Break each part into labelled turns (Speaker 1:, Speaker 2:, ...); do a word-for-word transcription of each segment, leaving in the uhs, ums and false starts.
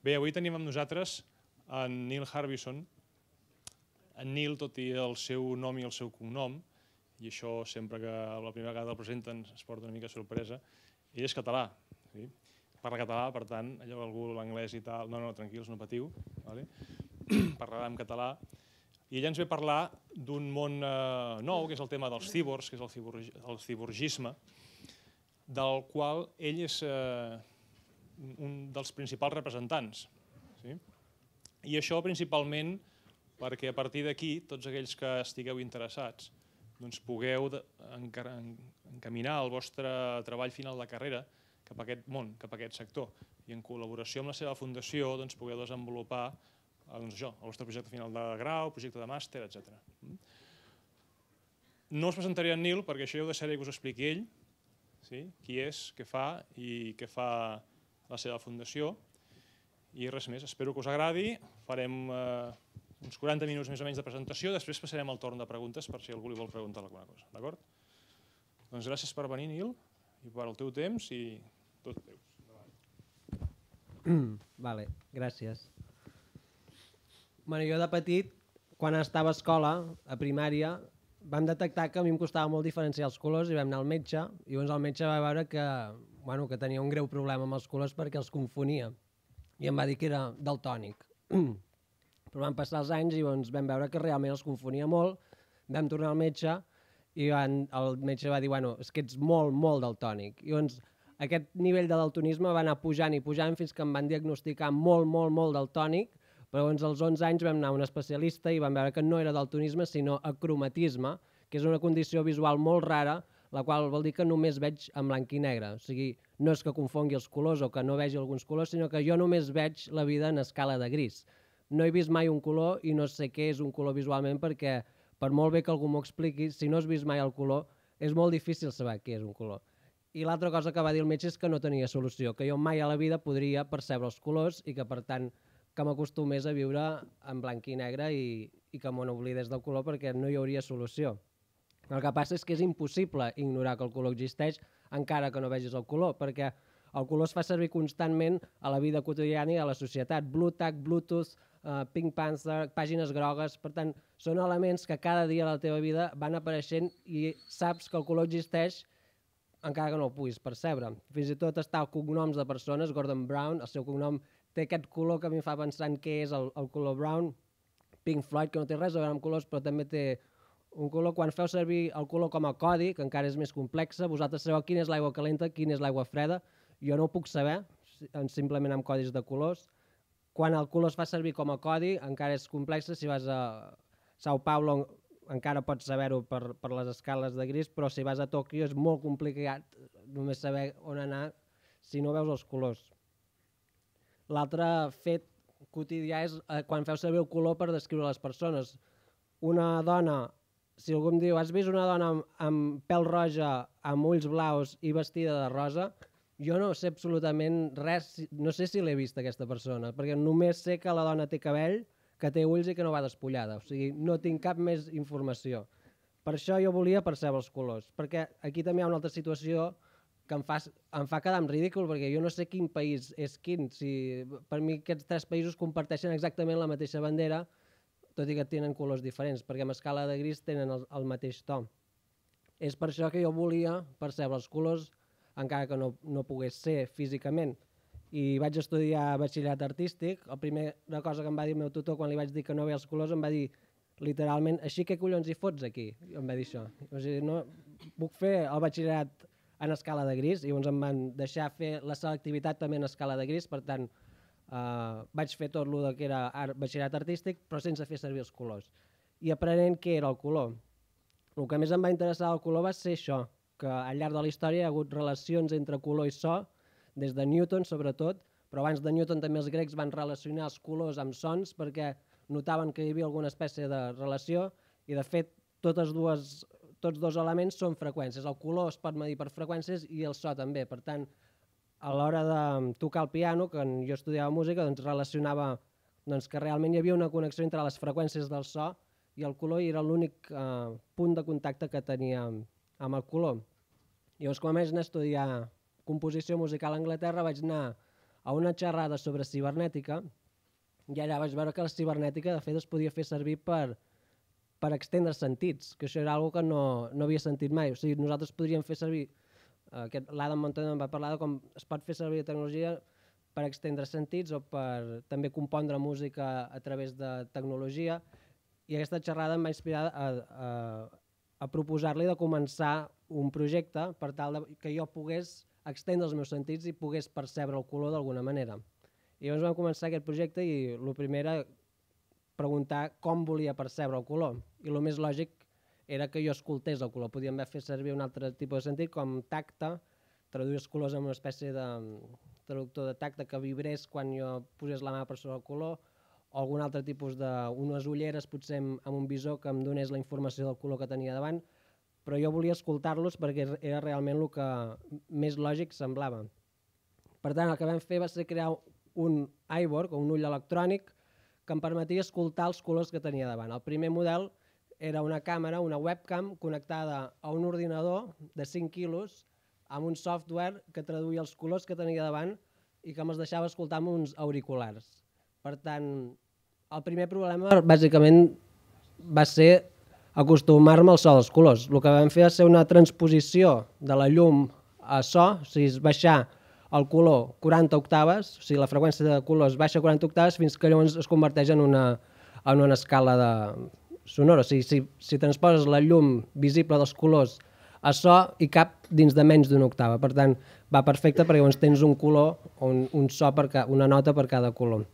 Speaker 1: Bé, avui tenim amb nosaltres en Neil Harbison. En Neil, tot i el seu nom i el seu cognom, i això sempre que la primera vegada el presenten es porta una mica sorpresa, ell és català. Sí? Parla català, per tant, allò que algú l'anglès i tal... No, no, tranquils, no patiu. Vale? Parlarà en català. I ell ens ve a parlar d'un món eh, nou, que és el tema dels cíborgs, que és el, ciborg, el ciborgisme, del qual ell és eh, un dels principals representants. Sí? I això principalment perquè a partir d'aquí, tots aquells que estigueu interessats, doncs pugueu encaminar el vostre treball final de carrera cap a aquest món, cap a aquest sector, i en col·laboració amb la seva fundació doncs, pugueu desenvolupar doncs, això, el vostre projecte final de grau, projecte de màster, etcètera. No us presentaré en Neil perquè això ja ho deixaré que us expliqui ell, sí? Qui és, què fa i què fa la seva fundació. I res més, espero que us agradi. Farem eh, uns quaranta minuts més o menys de presentació, després passarem al torn de preguntes per si algú li vol preguntar alguna cosa. D'acord? Doncs gràcies per venir, Neil, i per el teu temps i tot teu.
Speaker 2: Vale, gràcies. Bueno, jo de petit, quan estava a escola, a primària, vam detectar que a mi em costava molt diferenciar els colors i vam anar al metge, i llavors el metge va veure que, bueno, que tenia un greu problema amb els colors perquè els confonia, i em va dir que era daltònic. Però van passar els anys i doncs, vam veure que realment els confonia molt, vam tornar al metge i van, el metge va dir, bueno, és que ets molt, molt daltònic. I doncs aquest nivell de daltonisme va anar pujant i pujant fins que em van diagnosticar molt, molt, molt daltònic, però doncs als onze anys vam anar a un especialista i vam veure que no era daltonisme, sinó acromatisme, que és una condició visual molt rara, la qual vol dir que només veig en blanc i negre. O sigui, no és que confongui els colors o que no vegi alguns colors, sinó que jo només veig la vida en escala de gris. No he vist mai un color i no sé què és un color visualment perquè, per molt bé que algú m'ho expliqui, si no has vist mai el color, és molt difícil saber què és un color. I l'altra cosa que va dir el metge és que no tenia solució, que jo mai a la vida podria percebre els colors i que, per tant, que m'acostumés a viure en blanc i negre i, i que me n'oblidés del color perquè no hi hauria solució. El que passa és que és impossible ignorar que el color existeix encara que no vegis el color, perquè el color es fa servir constantment a la vida quotidiana i a la societat. Blue Tack, Bluetooth, uh, Pink Panther, pàgines grogues, per tant, són elements que cada dia de la teva vida van apareixent i saps que el color existeix encara que no el puguis percebre. Fins i tot està el cognoms de persones, Gordon Brown, el seu cognom té aquest color que a mi em fa pensar en què és el, el color brown. Pink Floyd, que no té res a veure amb colors, però també té un color. Quan feu servir el color com a codi, que encara és més complexa, vosaltres sabeu quina és l'aigua calenta, quina és l'aigua freda. Jo no ho puc saber, simplement amb codis de colors. Quan el color es fa servir com a codi, encara és complexa. Si vas a Sao Paulo encara pots saber-ho per, per les escales de gris, però si vas a Tòquio és molt complicat només saber on anar si no veus els colors. L'altre fet quotidià és eh, quan feu servir el color per descriure les persones. Una dona, si algú em diu, has vist una dona amb, amb pèl roja, amb ulls blaus i vestida de rosa, jo no sé absolutament res, no sé si l'he vist aquesta persona, perquè només sé que la dona té cabell, que té ulls i que no va despullada, o sigui, no tinc cap més informació. Per això jo volia percebre els colors, perquè aquí també hi ha una altra situació que em fa, em fa quedar en ridícul, perquè jo no sé quin país és quin. Si, per mi aquests tres països comparteixen exactament la mateixa bandera, tot i que tenen colors diferents, perquè amb escala de gris tenen el, el mateix to. És per això que jo volia percebre els colors, encara que no, no pogués ser físicament. I vaig estudiar batxillerat artístic. La primera cosa que em va dir el meu tutor quan li vaig dir que no veia els colors, em va dir literalment, així que collons hi fots aquí? I em va dir això. O sigui, no, puc fer el batxillerat en escala de gris, i llavors em van deixar fer la selectivitat també en escala de gris, per tant eh, vaig fer tot el que era art, batxillerat artístic, però sense fer servir els colors. I aprenent què era el color. El que més em va interessar del color va ser això, que al llarg de la història hi ha hagut relacions entre color i so, des de Newton sobretot, però abans de Newton també els grecs van relacionar els colors amb sons perquè notaven que hi havia alguna espècie de relació i de fet totes dues tots dos elements són freqüències. El color es pot medir per freqüències i el so també. Per tant, a l'hora de tocar el piano, quan jo estudiava música, doncs relacionava doncs, que realment hi havia una connexió entre les freqüències del so i el color i era l'únic eh, punt de contacte que tenia amb el color. Llavors, quan vaig anar a estudiar composició musical a Anglaterra, vaig anar a una xerrada sobre cibernètica i allà vaig veure que la cibernètica de fet es podia fer servir per, per extendre sentits, que això era una cosa que no, no havia sentit mai. O sigui, nosaltres podríem fer servir, aquest, l'Adam Montaner em va parlar de com es pot fer servir la tecnologia per extendre sentits o per també compondre música a través de tecnologia, i aquesta xerrada em va inspirar a, a, a proposar-li de començar un projecte per tal de, que jo pogués extendre els meus sentits i pogués percebre el color d'alguna manera. I llavors vam començar aquest projecte i el primer era preguntar com volia percebre el color. I el més lògic era que jo escoltés el color. Podíem fer servir un altre tipus de sentit com tacte, traduir els colors en una espècie de traductor de tacte que vibrés quan jo posés la mà per sobre el color, o algun altre tipus d'unes ulleres potser amb un visor que em donés la informació del color que tenia davant, però jo volia escoltar-los perquè era realment el que més lògic semblava. Per tant, el que vam fer va ser crear un iBoard, o un ull electrònic, que em permetia escoltar els colors que tenia davant. El primer model era una càmera, una webcam, connectada a un ordinador de cinc quilos amb un software que traduïa els colors que tenia davant i que me'ls deixava escoltar amb uns auriculars. Per tant, el primer problema bàsicament va ser acostumar-me al so dels colors. El que vam fer va ser una transposició de la llum a so, o sigui, baixar el color quaranta octaves, o sigui, la freqüència de colors baixa quaranta octaves fins que llavors es converteix en una, en una escala de sonora. O sigui, si, si transposes la llum visible dels colors a so i cap dins de menys d'una octava. Per tant, va perfecte perquè llavors tens un color o un, un so, per ca, una nota per cada color.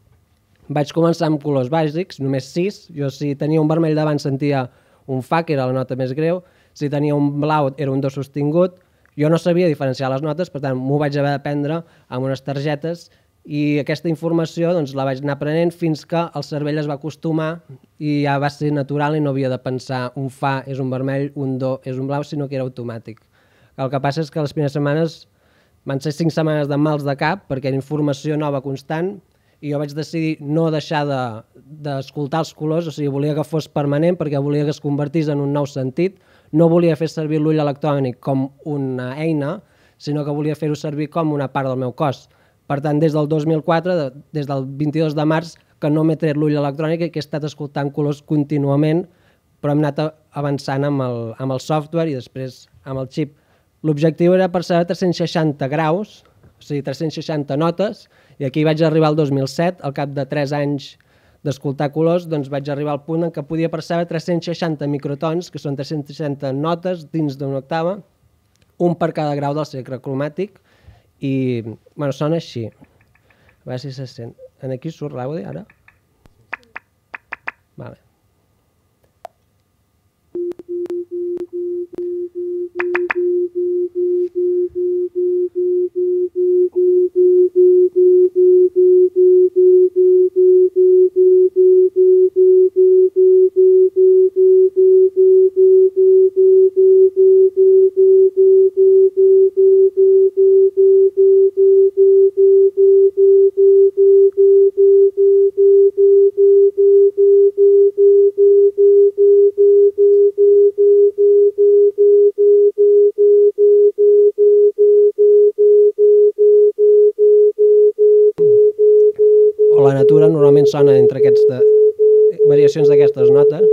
Speaker 2: Vaig començar amb colors bàsics, només sis. Jo si tenia un vermell davant sentia un fa, que era la nota més greu. Si tenia un blau era un do sostingut. Jo no sabia diferenciar les notes, per tant m'ho vaig haver d'aprendre amb unes targetes i aquesta informació doncs, la vaig anar aprenent fins que el cervell es va acostumar i ja va ser natural i no havia de pensar un fa és un vermell, un do és un blau, sinó que era automàtic. El que passa és que les primeres setmanes van ser cinc setmanes de mals de cap perquè era informació nova constant i jo vaig decidir no deixar d'escoltar de, els colors, o sigui, volia que fos permanent perquè volia que es convertís en un nou sentit. No volia fer servir l'ull electrònic com una eina, sinó que volia fer-ho servir com una part del meu cos. Per tant, des del dos mil quatre, des del vint-i-dos de març, que no m'he tret l'ull electrònic i que he estat escoltant colors contínuament, però hem anat avançant amb el, amb el software i després amb el xip. L'objectiu era percebre tres-cents seixanta graus, o sigui, tres-cents seixanta notes, i aquí vaig arribar al dos mil set, al cap de tres anys d'escoltar colors, doncs vaig arribar al punt en què podia percebre tres-cents seixanta microtons, que són tres-cents seixanta notes dins d'una octava, un per cada grau del espectre cromàtic, i bueno, sona així. A veure si se sent. Aquí surt l'àudio ara? Vale. La natura normalment sona entre aquestes variacions d'aquestes notes.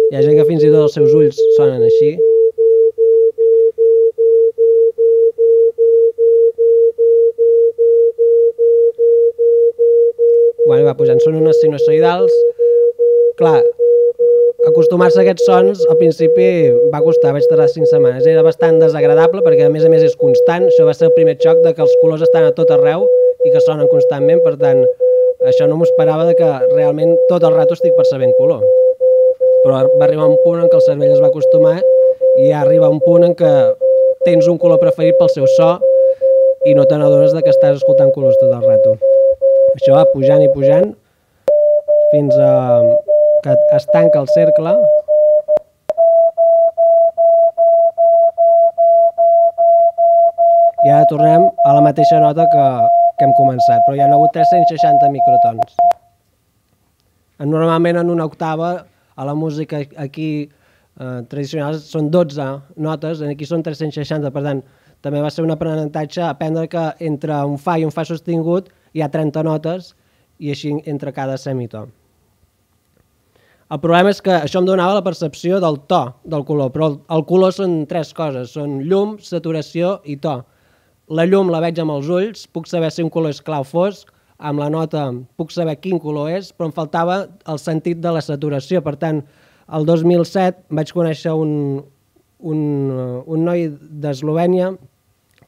Speaker 2: Hi ha gent que fins i tot els seus ulls sonen així. Bueno, va pujant, són unes sinusoidals. Clar, acostumar-se a aquests sons al principi va costar, vaig tardar cinc setmanes. Era bastant desagradable perquè a més a més és constant. Això va ser el primer xoc de que els colors estan a tot arreu i que sonen constantment. Per tant, això no m'ho esperava de que realment tot el rato estic percebent color. Però va arribar un punt en què el cervell es va acostumar i ja arriba un punt en què tens un color preferit pel seu so i no te n'adones que estàs escoltant colors tot el rato. Això va pujant i pujant fins a que es tanca el cercle i ara tornem a la mateixa nota que, que hem començat, però hi ha hagut tres-cents seixanta microtons. Normalment en una octava a la música aquí eh, tradicionals són dotze notes, aquí són tres-cents seixanta, per tant, també va ser un aprenentatge aprendre que entre un fa i un fa sostingut hi ha trenta notes i així entre cada semitó. El problema és que això em donava la percepció del to del color, però el, el color són tres coses, són llum, saturació i to. La llum la veig amb els ulls, puc saber si un color és clar o fosc, amb la nota puc saber quin color és, però em faltava el sentit de la saturació. Per tant, el dos mil set vaig conèixer un, un, un noi d'Eslovènia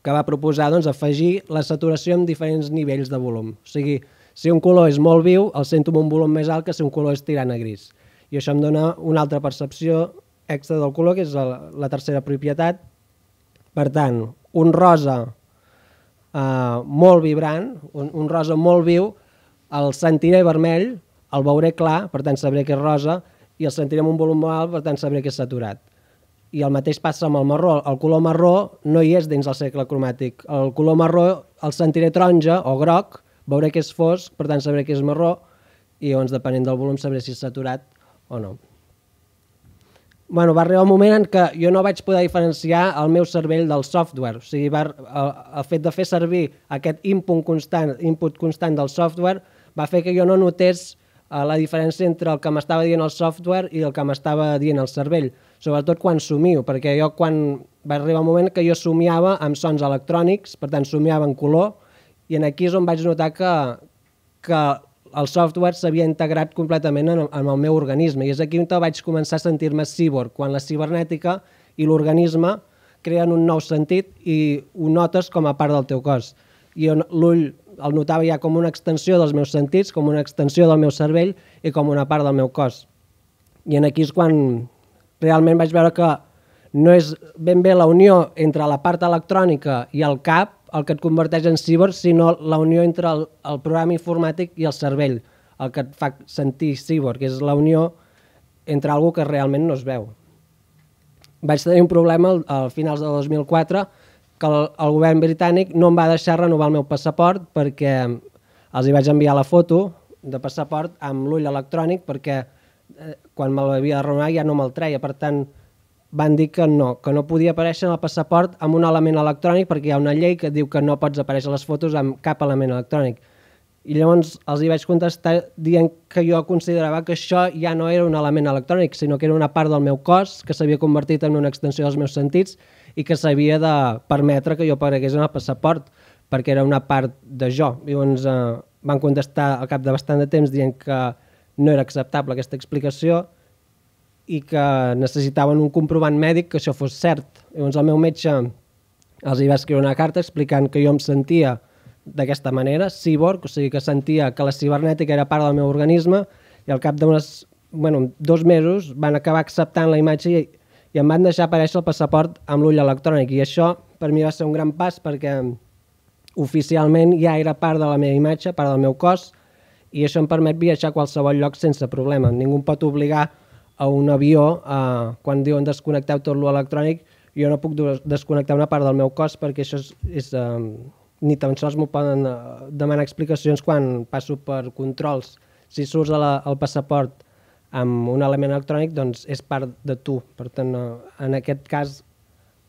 Speaker 2: que va proposar doncs, afegir la saturació amb diferents nivells de volum. O sigui, si un color és molt viu, el sento amb un volum més alt que si un color és tirant a gris. I això em dona una altra percepció extra del color, que és la, la tercera propietat. Per tant, un rosa Uh, molt vibrant, un, un rosa molt viu, el sentiré vermell, el veuré clar, per tant sabré que és rosa, i el sentiré amb un volum molt alt, per tant sabré que és saturat. I el mateix passa amb el marró. El color marró no hi és dins el cercle cromàtic. El color marró el sentiré taronja o groc, veuré que és fosc, per tant sabré que és marró, i llavors depenent del volum sabré si és saturat o no. Bueno, va arribar un moment en què jo no vaig poder diferenciar el meu cervell del software. O sigui, va, el, el fet de fer servir aquest input constant, input constant del software va fer que jo no notés uh, la diferència entre el que m'estava dient el software i el que m'estava dient el cervell, sobretot quan somio, perquè jo quan va arribar un moment que jo somiava amb sons electrònics, per tant somiava en color, i aquí és on vaig notar que, que el software s'havia integrat completament en, en el meu organisme, i és aquí on vaig començar a sentir-me cíborg, quan la cibernètica i l'organisme creen un nou sentit i ho notes com a part del teu cos. I l'ull el notava ja com una extensió dels meus sentits, com una extensió del meu cervell i com una part del meu cos. I aquí és quan realment vaig veure que no és ben bé la unió entre la part electrònica i el cap el que et converteix en cíborg, sinó la unió entre el, el programa informàtic i el cervell, el que et fa sentir cíborg, que és la unió entre algo que realment no es veu. Vaig tenir un problema al, al finals del dos mil quatre, que el, el govern britànic no em va deixar renovar el meu passaport perquè els hi vaig enviar la foto de passaport amb l'ull electrònic perquè eh, quan me l'havia de renovar ja no me'l treia, per tant van dir que no, que no podia aparèixer en el passaport amb un element electrònic perquè hi ha una llei que diu que no pots aparèixer les fotos amb cap element electrònic. I llavors els hi vaig contestar dient que jo considerava que això ja no era un element electrònic, sinó que era una part del meu cos que s'havia convertit en una extensió dels meus sentits i que s'havia de permetre que jo aparegués en el passaport perquè era una part de jo. Llavors eh, van contestar al cap de bastant de temps dient que no era acceptable aquesta explicació i que necessitaven un comprovant mèdic que això fos cert. Llavors el meu metge els hi va escriure una carta explicant que jo em sentia d'aquesta manera, cíborg, o sigui que sentia que la cibernètica era part del meu organisme i al cap d'unes, bueno, dos mesos van acabar acceptant la imatge i, i em van deixar aparèixer el passaport amb l'ull electrònic i això per mi va ser un gran pas perquè oficialment ja era part de la meva imatge, part del meu cos i això em permet viatjar a qualsevol lloc sense problema. Ningú em pot obligar a un avió, eh, quan diuen desconnecteu tot l'electrònic, jo no puc desconnectar una part del meu cos perquè això és, és eh, ni tan sols m'ho poden eh, demanar explicacions quan passo per controls. Si surts la, el passaport amb un element electrònic, doncs és part de tu. Per tant, eh, en aquest cas,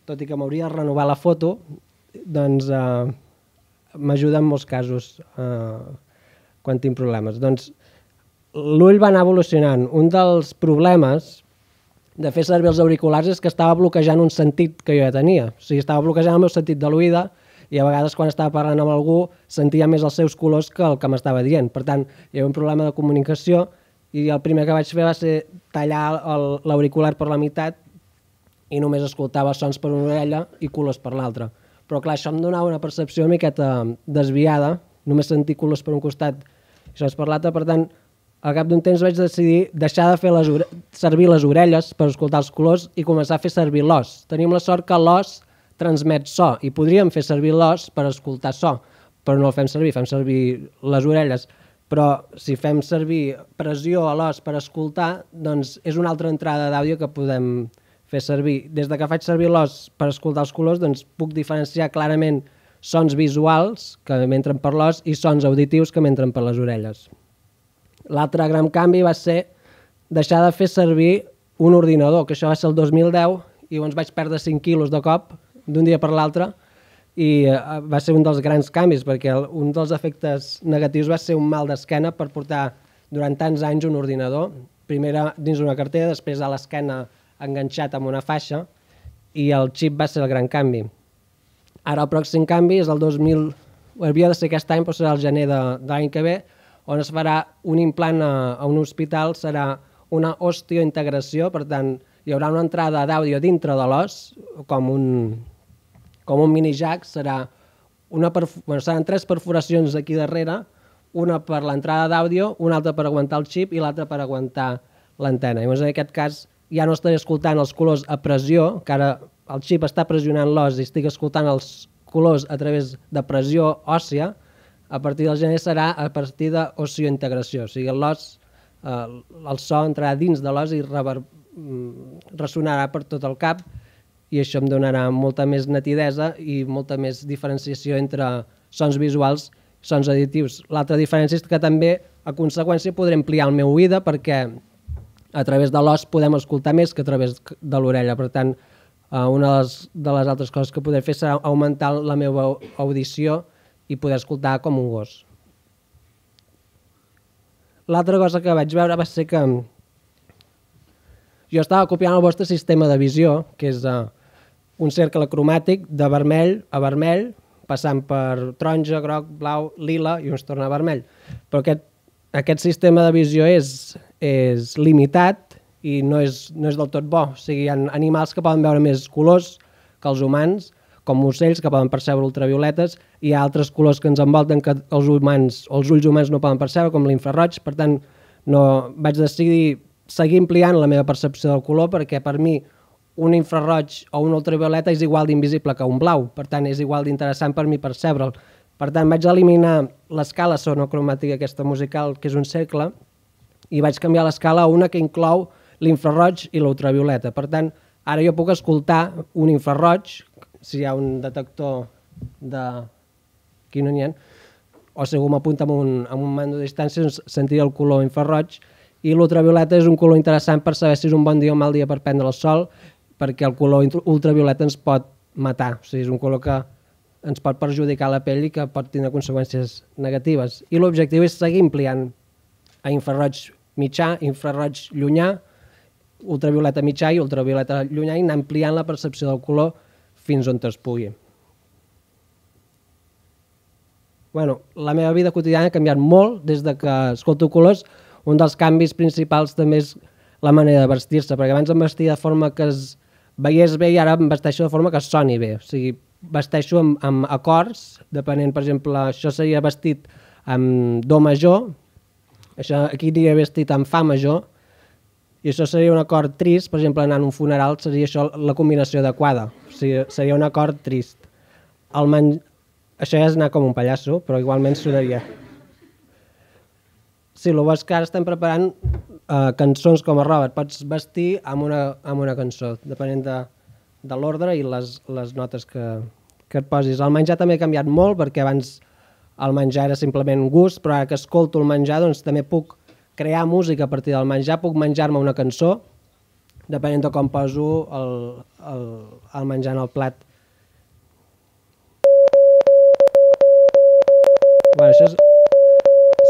Speaker 2: tot i que m'hauria de renovar la foto, doncs eh, m'ajuda en molts casos eh, quan tinc problemes. Doncs l'ull va anar evolucionant. Un dels problemes de fer servir els auriculars és que estava bloquejant un sentit que jo ja tenia. O sigui, estava bloquejant el meu sentit de l'oïda i a vegades quan estava parlant amb algú sentia més els seus colors que el que m'estava dient. Per tant, hi havia un problema de comunicació i el primer que vaig fer va ser tallar l'auricular per la meitat i només escoltava sons per una orella i colors per l'altra. Però clar, això em donava una percepció una miqueta desviada, només sentir colors per un costat i sons per l'altre, per tant, al cap d'un temps vaig decidir deixar de fer les servir les orelles per escoltar els colors i començar a fer servir l'os. Tenim la sort que l'os transmet so i podríem fer servir l'os per escoltar so, però no el fem servir, fem servir les orelles. Però si fem servir pressió a l'os per escoltar, doncs és una altra entrada d'àudio que podem fer servir. Des de que faig servir l'os per escoltar els colors, doncs puc diferenciar clarament sons visuals que m'entren per l'os i sons auditius que m'entren per les orelles. L'altre gran canvi va ser deixar de fer servir un ordinador, que això va ser el dos mil deu, i llavors vaig perdre cinc quilos de cop, d'un dia per l'altre, i va ser un dels grans canvis, perquè un dels efectes negatius va ser un mal d'esquena per portar durant tants anys un ordinador, primer dins una cartera, després a l'esquena enganxat amb una faixa, i el xip va ser el gran canvi. Ara el pròxim canvi és el dos mil... havia de ser aquest any, però serà el gener de, de l'any que ve, on es farà un implant a, a un hospital, serà una osteointegració, per tant, hi haurà una entrada d'àudio dintre de l'os, com un, com un mini jack, serà una bueno, seran tres perforacions aquí darrere, una per l'entrada d'àudio, una altra per aguantar el xip i l'altra per aguantar l'antena. Llavors, en aquest cas, ja no estaré escoltant els colors a pressió, que ara el xip està pressionant l'os i estic escoltant els colors a través de pressió òssia. A partir del gener serà a partir d'osteointegració, o sigui, l'os, eh, el so entrarà dins de l'os i rever, ressonarà per tot el cap, i això em donarà molta més nitidesa i molta més diferenciació entre sons visuals i sons auditius. L'altra diferència és que també, a conseqüència, podré ampliar el meu oïda, perquè a través de l'os podem escoltar més que a través de l'orella. Per tant, una de les, de les altres coses que podré fer serà augmentar la meva audició i poder escoltar com un gos. L'altra cosa que vaig veure va ser que jo estava copiant el vostre sistema de visió, que és un cercle cromàtic de vermell a vermell, passant per taronja, groc, blau, lila i uns torna a vermell. Però aquest, aquest sistema de visió és, és limitat i no és, no és del tot bo. O sigui, hi ha animals que poden veure més colors que els humans, com ocells que poden percebre ultravioletes, i hi ha altres colors que ens envolten que els, humans, els ulls humans no poden percebre, com l'infraroig. Per tant, no, vaig decidir seguir ampliant la meva percepció del color, perquè per mi un infraroig o una ultravioleta és igual d'invisible que un blau, per tant és igual d'interessant per mi percebre'l. Per tant vaig eliminar l'escala sonocromàtica aquesta musical, que és un cercle, i vaig canviar l'escala a una que inclou l'infraroig i l'ultravioleta. Per tant, ara jo puc escoltar un infraroig, si hi ha un detector de... aquí no n'hi ha, o si algú m'apunta amb un, amb un mando de distància, sentiré el color infraroig, i l'ultravioleta és un color interessant per saber si és un bon dia o un mal dia per prendre el sol, perquè el color ultravioleta ens pot matar, o sigui, és un color que ens pot perjudicar la pell i que pot tenir conseqüències negatives. I l'objectiu és seguir ampliant a infraroig mitjà, infraroig llunyà, ultravioleta mitjà i ultravioleta llunyà, i anar ampliant la percepció del color fins on es pugui. Bueno, la meva vida quotidiana ha canviat molt des de que escolto colors. Un dels canvis principals també és la manera de vestir-se, perquè abans em vestia de forma que es veiés bé i ara em vesteixo de forma que es soni bé. O sigui, vesteixo amb, amb acords, depenent, per exemple, això seria vestit amb do major, això aquí diria vestit amb fa major, i això seria un acord trist, per exemple, anant a un funeral seria això la combinació adequada, o sigui, seria un acord trist. El man... Això ja és anar com un pallasso, però igualment sonaria. Sí, el bo és que ara estem preparant uh, cançons com a Robert. Pots vestir amb una, amb una cançó, depenent de, de l'ordre i les, les notes que, que et posis. El menjar també ha canviat molt, perquè abans el menjar era simplement gust, però ara que escolto el menjar doncs, també puc crear música a partir del menjar, puc menjar-me una cançó, depenent de com poso el, el, el menjar en el plat. Bueno, això és...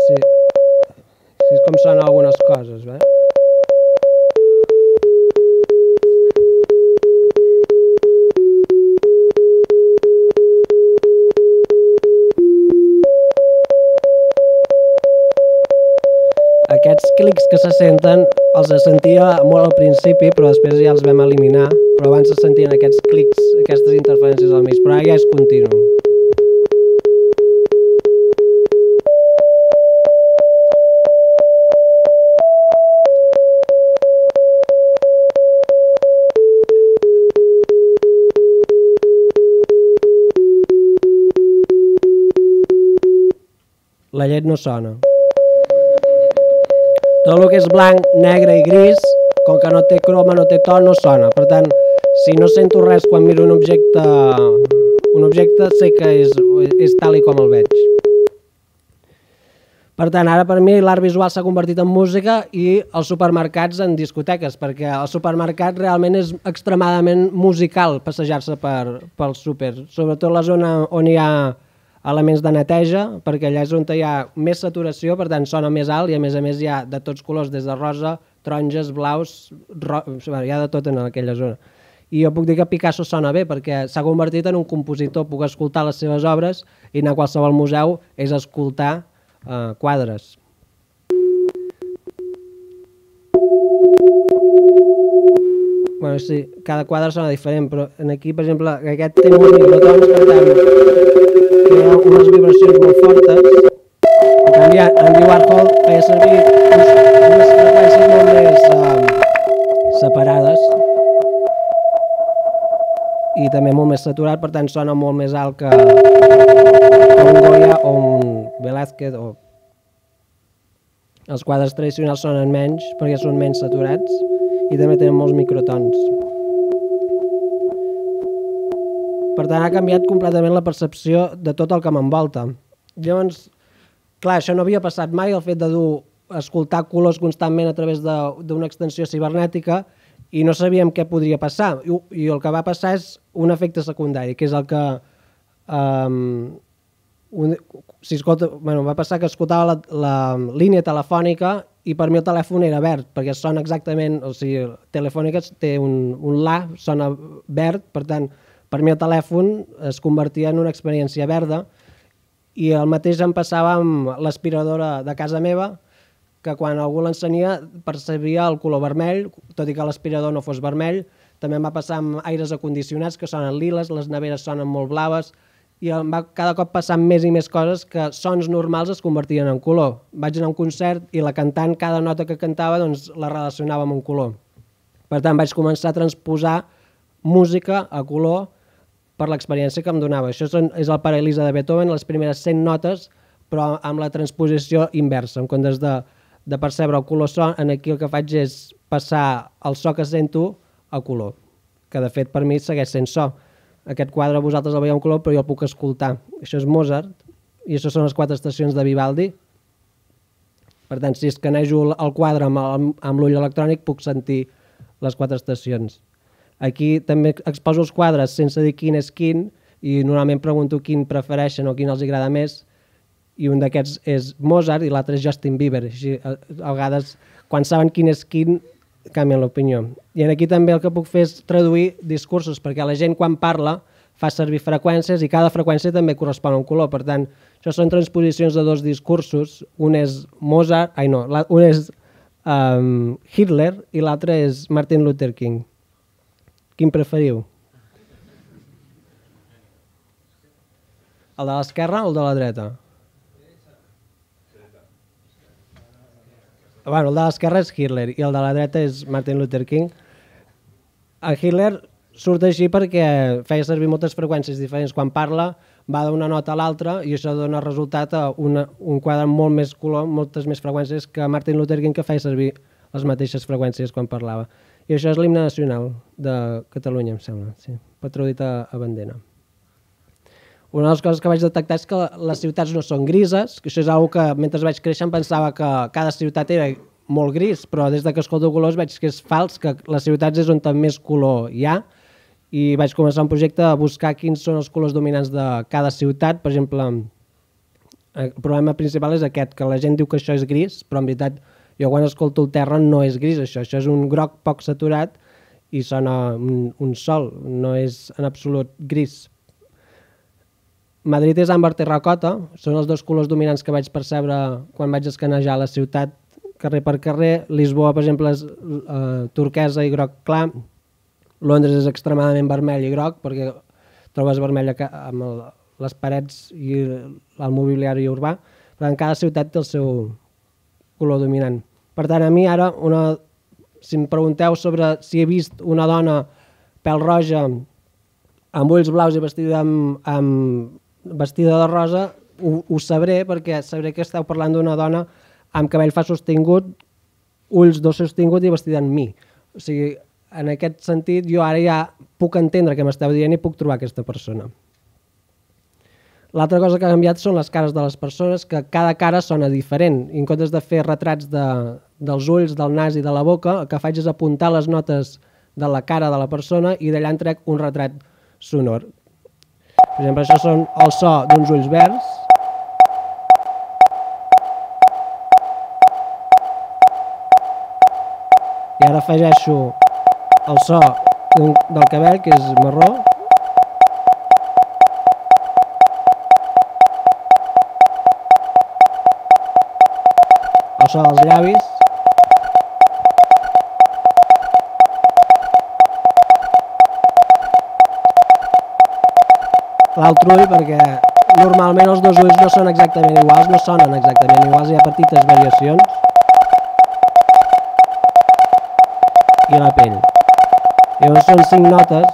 Speaker 2: Sí. Sí, és com sonen algunes coses, eh? Aquests clics que se senten els sentia molt al principi, però després ja els vam eliminar, però abans se sentien aquests clics, aquestes interferències al mig, però ara ja és continu. La llet no sona. Tot el que és blanc, negre i gris, com que no té croma, no té to, no sona. Per tant, si no sento res quan miro un objecte, un objecte sé que és, és tal i com el veig. Per tant, ara per mi l'art visual s'ha convertit en música i els supermercats en discoteques, perquè el supermercat realment és extremadament musical passejar-se per, pel súper, sobretot la zona on hi ha elements de neteja, perquè allà és on hi ha més saturació, per tant sona més alt i a més a més hi ha de tots colors, des de rosa, taronges, blaus, ro... hi ha de tot en aquella zona. I jo puc dir que Picasso sona bé perquè s'ha convertit en un compositor, puc escoltar les seves obres i anar a qualsevol museu és escoltar Uh, quadres. Bueno, sí, cada quadre sona diferent, però aquí, per exemple, aquest té molts microtons, per tant, crea unes vibracions molt fortes. En canvi, Andy Warhol feia servir unes freqüències molt més uh, separades i també molt més saturat, per tant, sona molt més alt que un Goya o un Velázquez. O... Els quadres tradicionals sonen menys perquè són menys saturats i també tenen molts microtons. Per tant, ha canviat completament la percepció de tot el que m'envolta. Llavors, clar, això no havia passat mai, el fet de dur, escoltar colors constantment a través d'una extensió cibernètica i no sabíem què podria passar. I, I el que va passar és un efecte secundari, que és el que... Um, un, si escolta, bueno, va passar que escoltava la, la línia telefònica i per mi el telèfon era verd, perquè sona exactament, o sigui, Telefònica té un, un la, sona verd, per tant, per mi el telèfon es convertia en una experiència verda i el mateix em passava amb l'aspiradora de casa meva, que quan algú l'ensenia percebia el color vermell, tot i que l'aspirador no fos vermell. També em va passar amb aires acondicionats que sonen liles, les neveres sonen molt blaves, i em va cada cop passar més i més coses que sons normals es convertien en color. Vaig anar a un concert i la cantant, cada nota que cantava, doncs, la relacionava amb un color. Per tant, vaig començar a transposar música a color per l'experiència que em donava. Això és el Paralisa de Beethoven, les primeres cent notes, però amb la transposició inversa. En comptes de, de percebre el color so, aquí el que faig és passar el so que sento a color, que de fet per mi segueix sent so. Aquest quadre vosaltres el veieu en color, però jo el puc escoltar. Això és Mozart, i això són les quatre estacions de Vivaldi. Per tant, si escanejo el quadre amb, amb l'ull electrònic, puc sentir les quatre estacions. Aquí també exposo els quadres sense dir quin és quin, i normalment pregunto quin prefereixen o quin els agrada més, i un d'aquests és Mozart i l'altre és Justin Bieber. Així, a, a vegades, quan saben quin és quin, canvien l'opinió. I aquí també el que puc fer és traduir discursos, perquè la gent quan parla fa servir freqüències i cada freqüència també correspon a un color. Per tant, això són transposicions de dos discursos. Un és Mozart, ai no, un és um, Hitler i l'altre és Martin Luther King. Quin preferiu? El de l'esquerra o el de la dreta? Bueno, el de l'esquerra és Hitler i el de la dreta és Martin Luther King. El Hitler surt així perquè feia servir moltes freqüències diferents. Quan parla va d'una nota a l'altra i això dona resultat a una, un quadre amb molt més color, moltes més freqüències que Martin Luther King, que feia servir les mateixes freqüències quan parlava. I això és l'himne nacional de Catalunya, em sembla, sí, patró dit a, a bandera. Una de les coses que vaig detectar és que les ciutats no són grises, que això és una cosa que mentre vaig créixer em pensava que cada ciutat era molt gris, però des que escolto colors veig que és fals, que les ciutats és on més color hi ha, i vaig començar un projecte a buscar quins són els colors dominants de cada ciutat. Per exemple, el problema principal és aquest, que la gent diu que això és gris, però en veritat jo quan escolto el terra no és gris, això, això és un groc poc saturat i sona un, un sol, no és en absolut gris. Madrid és àmbar terracota, són els dos colors dominants que vaig percebre quan vaig escanejar la ciutat carrer per carrer. Lisboa, per exemple, és uh, turquesa i groc clar. Londres és extremadament vermell i groc, perquè trobes vermell amb el, les parets i el mobiliari urbà. Per tant, cada ciutat té el seu color dominant. Per tant, a mi ara, una, si em pregunteu sobre si he vist una dona pèl roja amb ulls blaus i vestida amb, amb vestida de rosa, ho, ho sabré, perquè sabré que esteu parlant d'una dona amb cabell fa sostingut, ulls dos sostingut i vestida amb mi. O sigui, en aquest sentit, jo ara ja puc entendre què m'esteu dient i puc trobar aquesta persona. L'altra cosa que ha canviat són les cares de les persones, que cada cara sona diferent. I en comptes de fer retrats de, dels ulls, del nas i de la boca, el que faig és apuntar les notes de la cara de la persona i d'allà en trec un retrat sonor. Per exemple, això són el so d'uns ulls verds. I ara afegeixo el so del cabell, que és marró. El so dels llavis. L'altre ull, perquè normalment els dos ulls no són exactament iguals, no sonen exactament iguals, hi ha petites variacions. I la pell. Llavors són cinc notes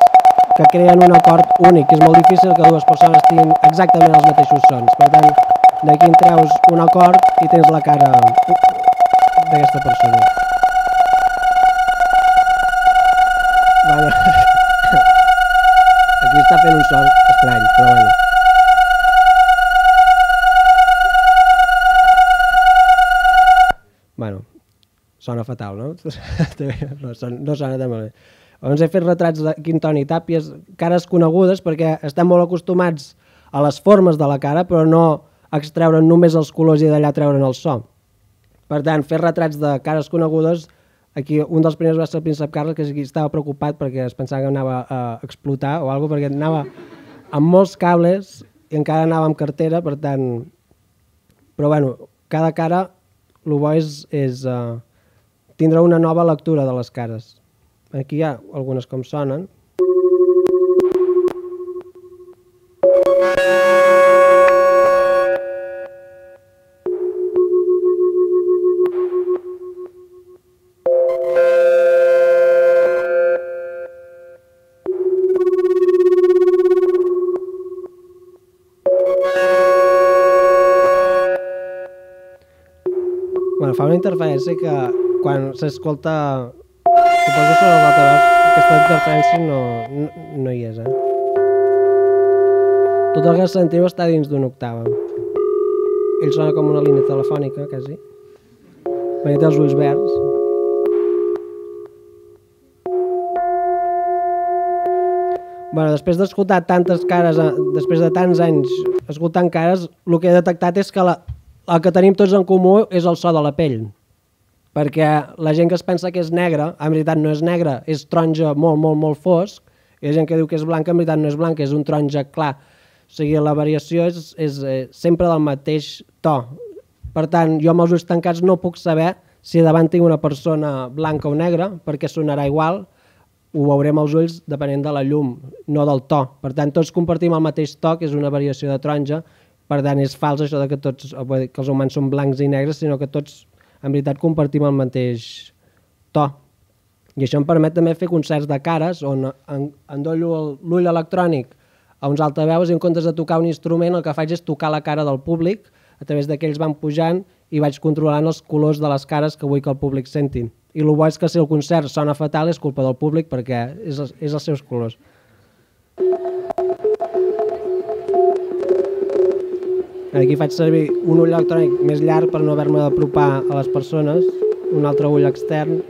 Speaker 2: que creen un acord únic, que és molt difícil que dues persones tinguin exactament els mateixos sons. Per tant, d'aquí en treus un acord i tens la cara d'aquesta persona. Bueno, aquí està fent un so estrany, però bueno. Bueno, sona fatal, no? No sona, no sona tan malament. Llavors he fet retrats de Quintoni i Tàpies, cares conegudes, perquè estem molt acostumats a les formes de la cara, però no a extreure'n només els colors i d'allà treure'n el so. Per tant, fer retrats de cares conegudes, aquí un dels primers va ser el príncep Carles, que estava preocupat perquè es pensava que anava a explotar o alguna cosa, perquè anava amb molts cables i encara anava amb cartera, per tant... Però bueno, cada cara, el bo és, és uh, tindre una nova lectura de les cares. Aquí hi ha algunes com sonen. Bueno, fa una interferència que quan s'escolta... Suposo que sobre l'altaveu aquesta interferència no, no, no hi és, eh? Tot el que sentiu està dins d'una octava. Ell sona com una línia telefònica, quasi. Perquè té els ulls verds. Bueno, després d'escoltar tantes cares, després de tants anys escoltant cares, el que he detectat és que la, el que tenim tots en comú és el so de la pell. Perquè la gent que es pensa que és negra, en veritat no és negra, és taronja molt, molt, molt fosc, i la gent que diu que és blanca, en veritat no és blanca, és un taronja clar. O sigui, la variació és, és eh, sempre del mateix to. Per tant, jo amb els ulls tancats no puc saber si davant tinc una persona blanca o negra, perquè sonarà igual, ho veurem als ulls depenent de la llum, no del to. Per tant, tots compartim el mateix to, que és una variació de taronja, per tant, és fals això de que, tots, que els humans són blancs i negres, sinó que tots en veritat compartim el mateix to. I això em permet també fer concerts de cares on endollo l'ull electrònic a uns altaveus i en comptes de tocar un instrument el que faig és tocar la cara del públic a través de que ells van pujant i vaig controlant els colors de les cares que vull que el públic sentin. I el bo és que si el concert sona fatal és culpa del públic perquè és, és els seus colors. Aquí faig servir un ull electrònic més llarg per no haver-me d'apropar a les persones, un altre ull extern,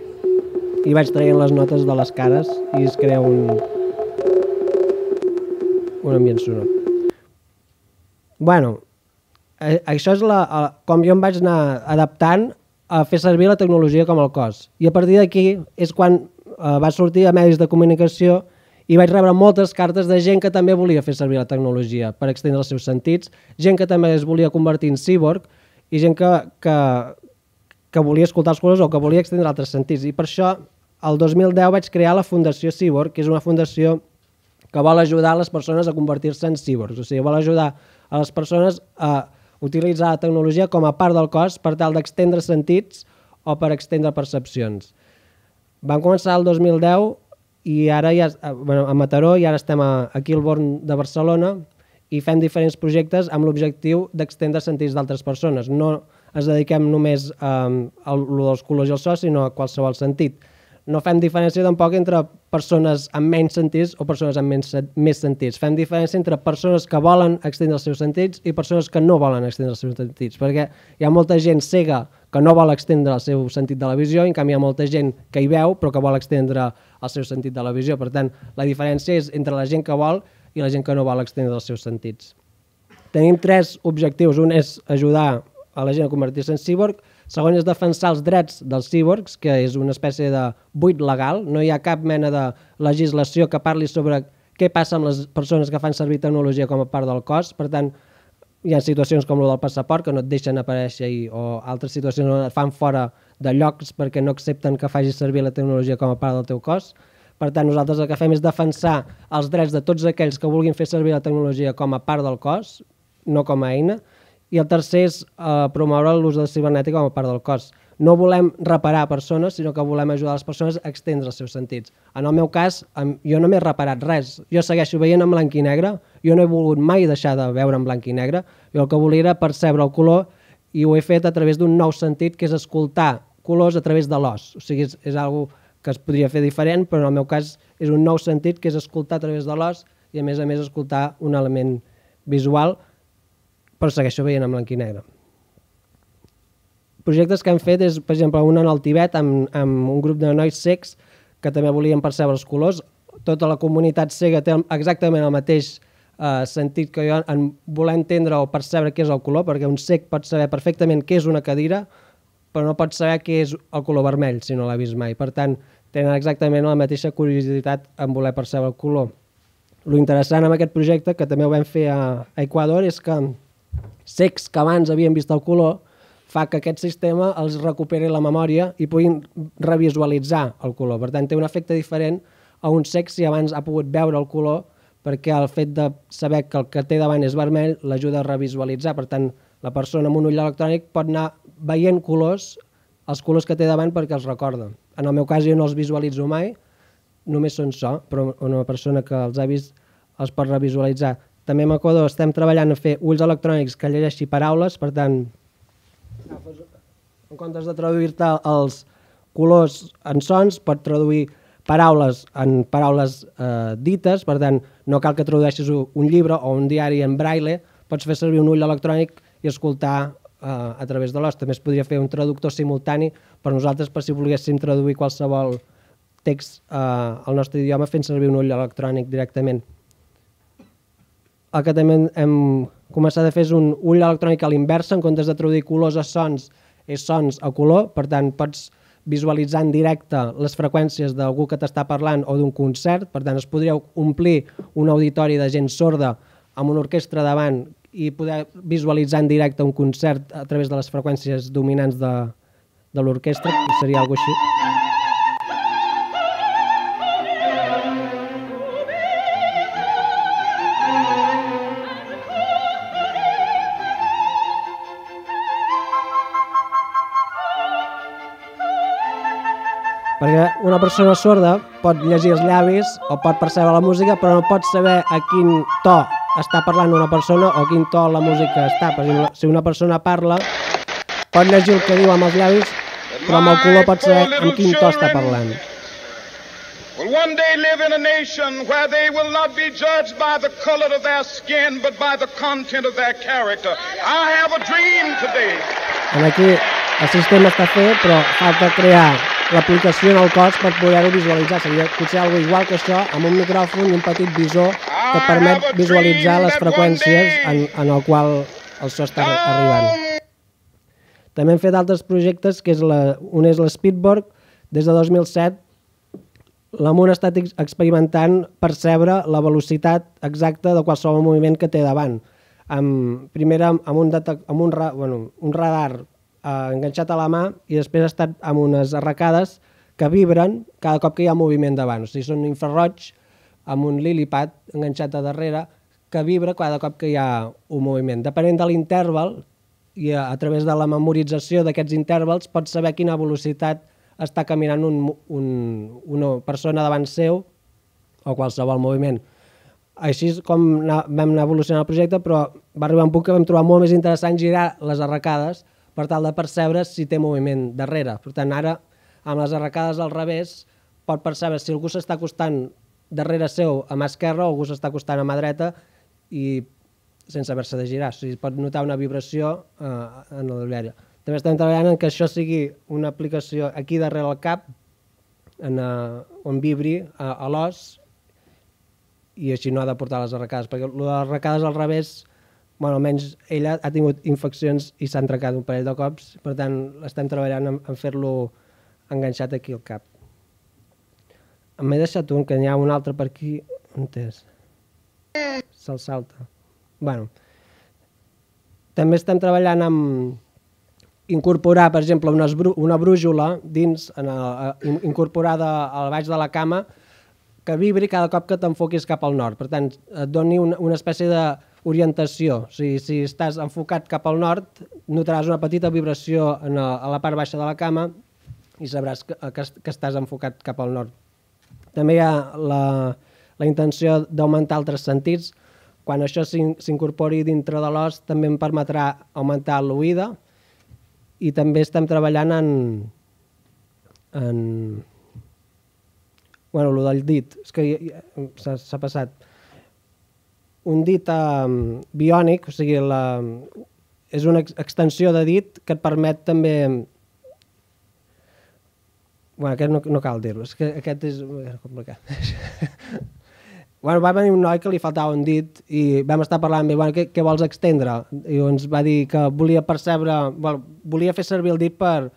Speaker 2: i vaig traient les notes de les cares i es crea un, un ambient sonor. Bueno, això és la, com jo em vaig anar adaptant a fer servir la tecnologia com el cos. I a partir d'aquí és quan eh, va sortir a medis de comunicació i vaig rebre moltes cartes de gent que també volia fer servir la tecnologia per extendre els seus sentits, gent que també es volia convertir en cíborg i gent que, que, que volia escoltar els colors o que volia extendre altres sentits. I per això, el dos mil deu vaig crear la Fundació Cíborg, que és una fundació que vol ajudar les persones a convertir-se en cíborgs. O sigui, vol ajudar a les persones a utilitzar la tecnologia com a part del cos per tal d'extendre sentits o per extendre percepcions. Vam començar el dos mil deu i ara ja, bueno, a Mataró i ara estem a, aquí al Born de Barcelona i fem diferents projectes amb l'objectiu d'extendre sentits d'altres persones. No ens dediquem només a, a, a dels colors i el so, sinó a qualsevol sentit. No fem diferència tampoc entre persones amb menys sentits o persones amb menys, més sentits. Fem diferència entre persones que volen extendre els seus sentits i persones que no volen extendre els seus sentits, perquè hi ha molta gent cega que no vol extendre el seu sentit de la visió, i en canvi hi ha molta gent que hi veu però que vol extendre el seu sentit de la visió. Per tant, la diferència és entre la gent que vol i la gent que no vol extendre els seus sentits. Tenim tres objectius. Un és ajudar a la gent a convertir-se en cíborg. Segon és defensar els drets dels cíborgs, que és una espècie de buit legal. No hi ha cap mena de legislació que parli sobre què passa amb les persones que fan servir tecnologia com a part del cos. Per tant, hi ha situacions com el del passaport que no et deixen aparèixer o altres situacions on et fan fora de llocs perquè no accepten que facis servir la tecnologia com a part del teu cos. Per tant, nosaltres el que fem és defensar els drets de tots aquells que vulguin fer servir la tecnologia com a part del cos, no com a eina. I el tercer és eh, promoure l'ús de la cibernètica com a part del cos. No volem reparar persones, sinó que volem ajudar les persones a extendre els seus sentits. En el meu cas, jo no m'he reparat res. Jo segueixo veient en blanc i negre, jo no he volgut mai deixar de veure en blanc i negre, jo el que volia era percebre el color i ho he fet a través d'un nou sentit, que és escoltar colors a través de l'os. O sigui, és, és algo que es podria fer diferent, però en el meu cas és un nou sentit, que és escoltar a través de l'os i a més a més escoltar un element visual, però segueixo veient en blanc i negre. Projectes que hem fet és, per exemple, un en el Tibet amb, amb un grup de nois cecs que també volien percebre els colors. Tota la comunitat cega té exactament el mateix eh, sentit que jo en voler entendre o percebre què és el color, perquè un cec pot saber perfectament què és una cadira, però no pot saber què és el color vermell si no l'ha vist mai. Per tant, tenen exactament la mateixa curiositat en voler percebre el color. Lo interessant amb aquest projecte, que també ho vam fer a Equador, és que cecs que abans havien vist el color fa que aquest sistema els recuperi la memòria i puguin revisualitzar el color. Per tant, té un efecte diferent a un cec si abans ha pogut veure el color, perquè el fet de saber que el que té davant és vermell l'ajuda a revisualitzar. Per tant, la persona amb un ull electrònic pot anar veient colors, els colors que té davant, perquè els recorda. En el meu cas jo no els visualitzo mai, només són so, però una persona que els ha vist els pot revisualitzar. També a Equador estem treballant a fer ulls electrònics que llegeixi paraules, per tant, en comptes de traduir-te els colors en sons, pot traduir paraules en paraules eh, dites, per tant, no cal que tradueixis un llibre o un diari en braille, pots fer servir un ull electrònic i escoltar eh, a través de l'os. També es podria fer un traductor simultani per nosaltres, per si volguéssim traduir qualsevol text eh, al nostre idioma fent servir un ull electrònic directament. El que també hem començat a fer és un ull electrònic a l'inversa, en comptes de traduir colors a sons, és sons a color, per tant pots visualitzar en directe les freqüències d'algú que t'està parlant o d'un concert, per tant es podria omplir un auditori de gent sorda amb una orquestra davant i poder visualitzar en directe un concert a través de les freqüències dominants de, de l'orquestra, seria alguna cosa així. Perquè una persona sorda pot llegir els llavis o pot percebre la música, però no pot saber a quin to està parlant una persona o a quin to la música està. Per exemple, si una persona parla, pot llegir el que diu amb els llavis, però amb el color pot saber amb quin to està parlant.
Speaker 3: Will one day live in a nation where they will not be judged by the color of their skin, but by the content of their character. I have a dream today.
Speaker 2: Aquí el sistema està fet, però falta crear l'aplicació en el cos per poder-ho visualitzar. Seria potser alguna igual que això, amb un micròfon i un petit visor que et permet visualitzar les freqüències en, en el qual el so està arribant. També hem fet altres projectes, que és la, un és l'Speedborg. Des de dos mil set l'Amun ha estat experimentant percebre la velocitat exacta de qualsevol moviment que té davant. Amb, primer amb, un, amb un, bueno, un radar eh, enganxat a la mà i després ha estat amb unes arracades que vibren cada cop que hi ha moviment davant. O sigui, són infraroig amb un lilipad enganxat a darrere que vibra cada cop que hi ha un moviment. Depenent de l'interval i a, a través de la memorització d'aquests intervals pots saber a quina velocitat està caminant un, un, una persona davant seu o qualsevol moviment. Així és com vam anar evolucionant el projecte, però va arribar un punt que vam trobar molt més interessant girar les arracades per tal de percebre si té moviment darrere. Per tant, ara, amb les arracades al revés, pot percebre si algú s'està acostant darrere seu a mà esquerra o algú s'està acostant a mà dreta i sense haver-se de girar. O sigui, pot notar una vibració eh, en el viari. També estem treballant en que això sigui una aplicació aquí darrere el cap, en, uh, on vibri a, a l'os, i així no ha de portar les arracades, perquè les arracades al revés, bueno, almenys ella ha tingut infeccions i s'han trencat un parell de cops, per tant estem treballant en, en fer-lo enganxat aquí al cap. M'he deixat un, que n'hi ha un altre per aquí, on és? Se'l salta. Bueno, també estem treballant amb incorporar, per exemple, una, una brújula dins, en el, incorporada al baix de la cama, que vibri cada cop que t'enfoquis cap al nord. Per tant, et doni una, una espècie d'orientació. O sigui, si estàs enfocat cap al nord, notaràs una petita vibració en a, a la part baixa de la cama i sabràs que, que, que estàs enfocat cap al nord. També hi ha la, la intenció d'augmentar altres sentits. Quan això s'incorpori dintre de l'os, també em permetrà augmentar l'oïda, i també estem treballant en, en bueno, el del dit, és que s'ha passat. Un dit um, biònic, o sigui, la, és una extensió de dit que et permet també... Bueno, aquest no, no cal dir-lo, és que aquest és complicat. Bueno, va venir un noi que li faltava un dit i vam estar parlant amb ell, bueno, què, què vols extendre? I ens va dir que volia percebre, bueno, volia fer servir el dit per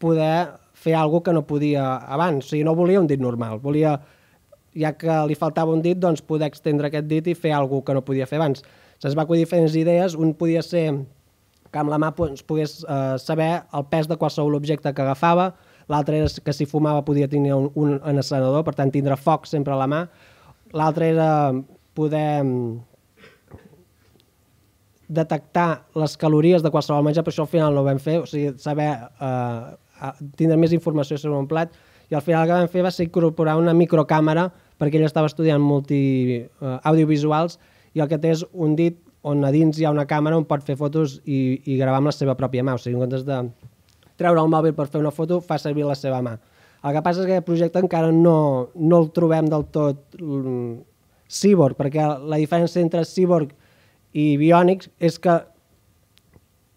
Speaker 2: poder fer alguna cosa que no podia abans. O sigui, no volia un dit normal, volia, ja que li faltava un dit, doncs poder extendre aquest dit i fer alguna cosa que no podia fer abans. Se'ns va acudir diferents idees, un podia ser que amb la mà pogués eh, saber el pes de qualsevol objecte que agafava, l'altre era que si fumava podia tenir un, un encenedor, per tant tindre foc sempre a la mà. L'altre era poder detectar les calories de qualsevol menjar, però això al final no ho vam fer, o sigui, saber eh, tindre més informació sobre un plat, i al final el que vam fer va ser incorporar una microcàmera, perquè ell estava estudiant multi, eh, audiovisuals, i el que té és un dit on a dins hi ha una càmera on pot fer fotos i, i gravar amb la seva pròpia mà, o sigui, en comptes de treure el mòbil per fer una foto, fa servir la seva mà. El que passa és que aquest projecte encara no, no el trobem del tot um, cíborg, perquè la diferència entre cíborg i biònics és que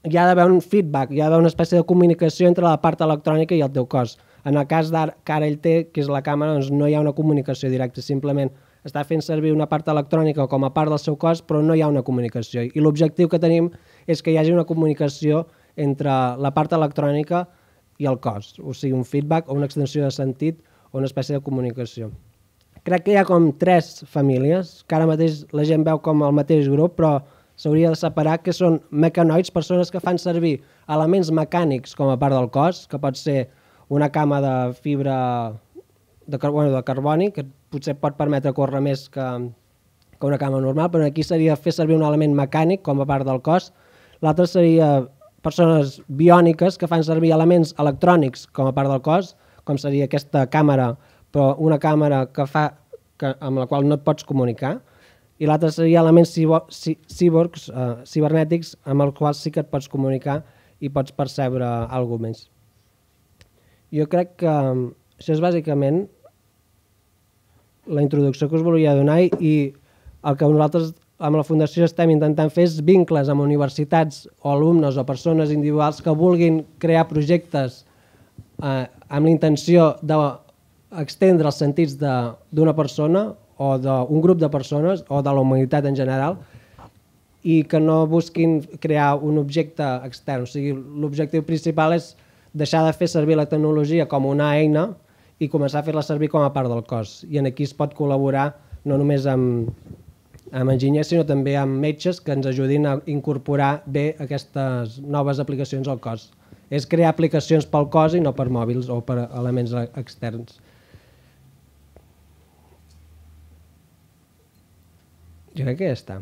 Speaker 2: hi ha d'haver un feedback, hi ha d'haver una espècie de comunicació entre la part electrònica i el teu cos. En el cas que ara ell té, que és la càmera, doncs no hi ha una comunicació directa, simplement està fent servir una part electrònica com a part del seu cos, però no hi ha una comunicació. I l'objectiu que tenim és que hi hagi una comunicació entre la part electrònica i el cos, o sigui, un feedback o una extensió de sentit o una espècie de comunicació. Crec que hi ha com tres famílies, que ara mateix la gent veu com el mateix grup, però s'hauria de separar, que són mecanoids, persones que fan servir elements mecànics com a part del cos, que pot ser una cama de fibra de, bueno, de carboni, que potser pot permetre córrer més que, que una cama normal, però aquí seria fer servir un element mecànic com a part del cos. L'altre seria persones biòniques que fan servir elements electrònics com a part del cos, com seria aquesta càmera, però una càmera que fa, que, amb la qual no et pots comunicar, i l'altre seria elements cíborgs, eh, cibernètics, amb els quals sí que et pots comunicar i pots percebre alguna cosa més. Jo crec que això és bàsicament la introducció que us volia donar, i el que nosaltres amb la Fundació estem intentant fer és vincles amb universitats o alumnes o persones individuals que vulguin crear projectes eh, amb la intenció d'extendre els sentits d'una persona o d'un grup de persones o de la humanitat en general, i que no busquin crear un objecte extern. O sigui, l'objectiu principal és deixar de fer servir la tecnologia com una eina i començar a fer-la servir com a part del cos. I en aquí es pot col·laborar no només amb amb enginyers, sinó també amb metges que ens ajudin a incorporar bé aquestes noves aplicacions al cos. És crear aplicacions pel cos i no per mòbils o per elements externs. Jo crec que ja està.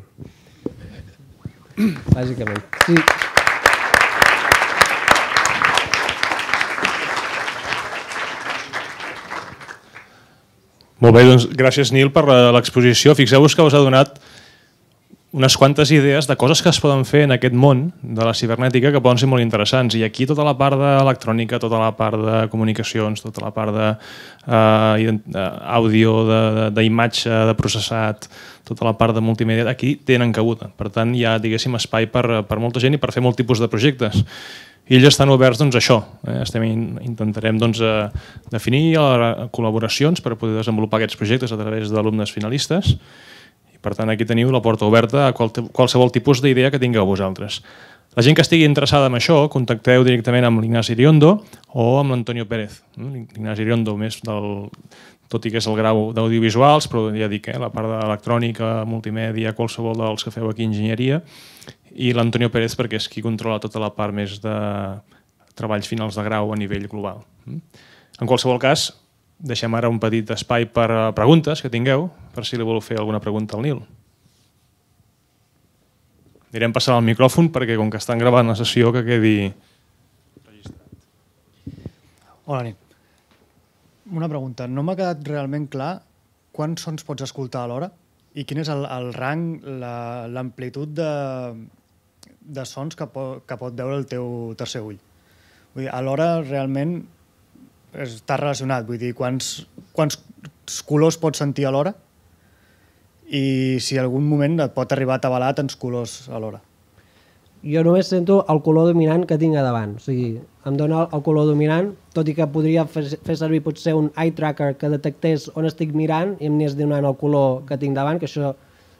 Speaker 2: Bàsicament. Sí.
Speaker 1: Molt bé, doncs gràcies Nil per l'exposició. Fixeu-vos que us ha donat unes quantes idees de coses que es poden fer en aquest món de la cibernètica que poden ser molt interessants. I aquí tota la part d'electrònica, tota la part de comunicacions, tota la part d'àudio, d'imatge, de processat, tota la part de multimèdia, aquí tenen cabuda. Per tant, hi ha, diguéssim, espai per, per molta gent i per fer molt tipus de projectes. I ells estan oberts doncs, a això. Eh? Estem, intentarem doncs, a definir col·laboracions per poder desenvolupar aquests projectes a través d'alumnes finalistes. I, per tant, aquí teniu la porta oberta a qualsevol tipus d'idea que tingueu vosaltres. La gent que estigui interessada en això, contacteu directament amb l'Ignasi Iriondo o amb l'Antonio Pérez. L'Ignasi Iriondo, més del, tot i que és el grau d'audiovisuals, però ja dic, eh, la part d'electrònica, multimèdia, qualsevol dels que feu aquí enginyeria, i l'Antonio Pérez perquè és qui controla tota la part més de treballs finals de grau a nivell global. En qualsevol cas, deixem ara un petit espai per preguntes que tingueu, per si li voleu fer alguna pregunta al Nil. Anirem passant el micròfon perquè com que estan gravant la sessió que quedi registrat.
Speaker 4: Hola, nit. Una pregunta. No m'ha quedat realment clar quants sons pots escoltar alhora i quin és el, el rang, l'amplitud de, de sons que, po, que pot veure el teu tercer ull. Vull dir, alhora realment està relacionat, vull dir, quants, quants colors pots sentir alhora i si en algun moment et pot arribar a atabalar tants colors alhora.
Speaker 2: Jo només sento el color dominant que tinc a davant. O sigui, em dona el color dominant, tot i que podria fer, fer servir potser un eye tracker que detectés on estic mirant i em anés donant el color que tinc davant, que això,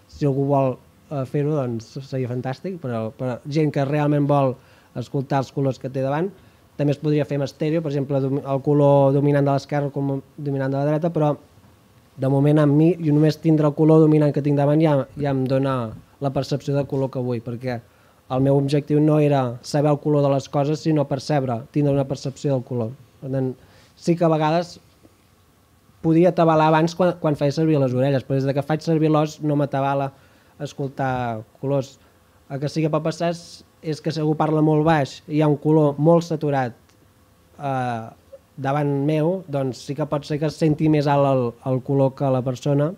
Speaker 2: si algú vol uh, fer-ho, doncs seria fantàstic, però per gent que realment vol escoltar els colors que té davant, també es podria fer amb estèreo, per exemple, el color dominant de l'esquerra, el color dominant de la dreta, però de moment amb mi, jo només tindre el color dominant que tinc davant ja, ja em dona la percepció del color que vull, perquè el meu objectiu no era saber el color de les coses, sinó percebre, tindre una percepció del color. Per tant, sí que a vegades podia atabalar abans quan, quan feia servir les orelles, però des que faig servir l'os no m'atabala escoltar colors. El que sí que pot passar és, és que si algú parla molt baix i hi ha un color molt saturat eh, davant meu, doncs sí que pot ser que es senti més alt el, el color que la persona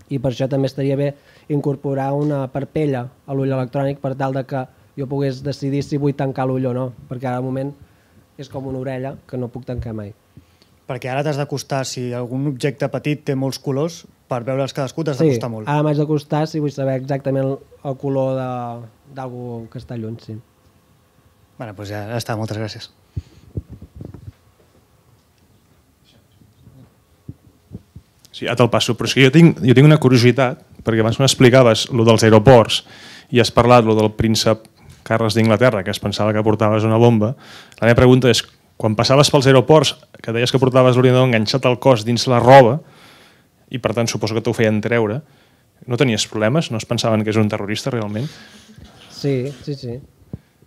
Speaker 2: i per això també estaria bé incorporar una parpella a l'ull electrònic per tal de que jo pogués decidir si vull tancar l'ull o no, perquè ara al moment és com una orella que no puc tancar mai.
Speaker 4: Perquè ara t'has d'acostar, si algun objecte petit té molts colors, per veure'ls cadascú t'has d'acostar molt.
Speaker 2: Sí, ara m'haig d'acostar si vull saber exactament el color d'algú que està lluny, sí.
Speaker 4: Bé, doncs ja està, moltes gràcies.
Speaker 1: Sí, ara te'l passo, però és que jo tinc, jo tinc una curiositat, perquè abans m'explicaves el dels aeroports i has parlat el del príncep Carles d'Inglaterra, que es pensava que portaves una bomba. La meva pregunta és, quan passaves pels aeroports, que deies que portaves l'ordinador enganxat al cos dins la roba, i per tant suposo que t'ho feien treure, no tenies problemes? No es pensaven que és un terrorista realment?
Speaker 2: Sí, sí, sí.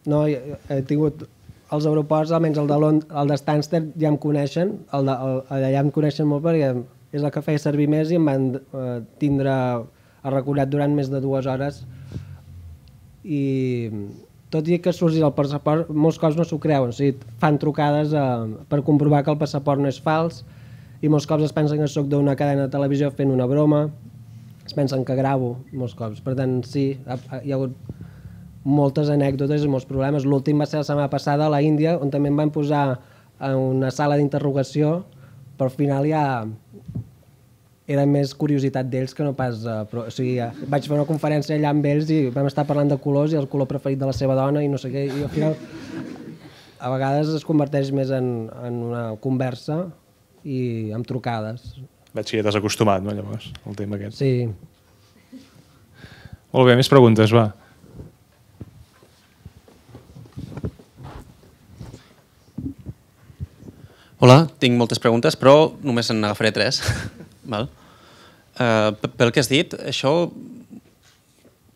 Speaker 2: No, he tingut els aeroports, almenys el de, el de Stansted ja em coneixen, el de, el, allà em coneixen molt perquè és el que feia servir més i em van eh, tindre arraconat durant més de dues hores i tot i que surti el passaport, molts cops no s'ho creuen, o sigui, fan trucades eh, per comprovar que el passaport no és fals i molts cops es pensen que soc d'una cadena de televisió fent una broma, es pensen que gravo molts cops, per tant sí, hi ha hagut moltes anècdotes i molts problemes. L'últim va ser la setmana passada a la Índia, on també em van posar en una sala d'interrogació, però al final ja era més curiositat d'ells que no pas... Eh, però, o sigui, vaig fer una conferència allà amb ells i vam estar parlant de colors i el color preferit de la seva dona i no sé què, i al final a vegades es converteix més en, en una conversa i amb trucades.
Speaker 1: Veig que ja t'has acostumat, no, llavors, al tema aquest.
Speaker 2: Sí.
Speaker 1: Molt bé, més preguntes, va.
Speaker 5: Hola, tinc moltes preguntes, però només en agafaré tres. Val. Uh, pel que has dit, això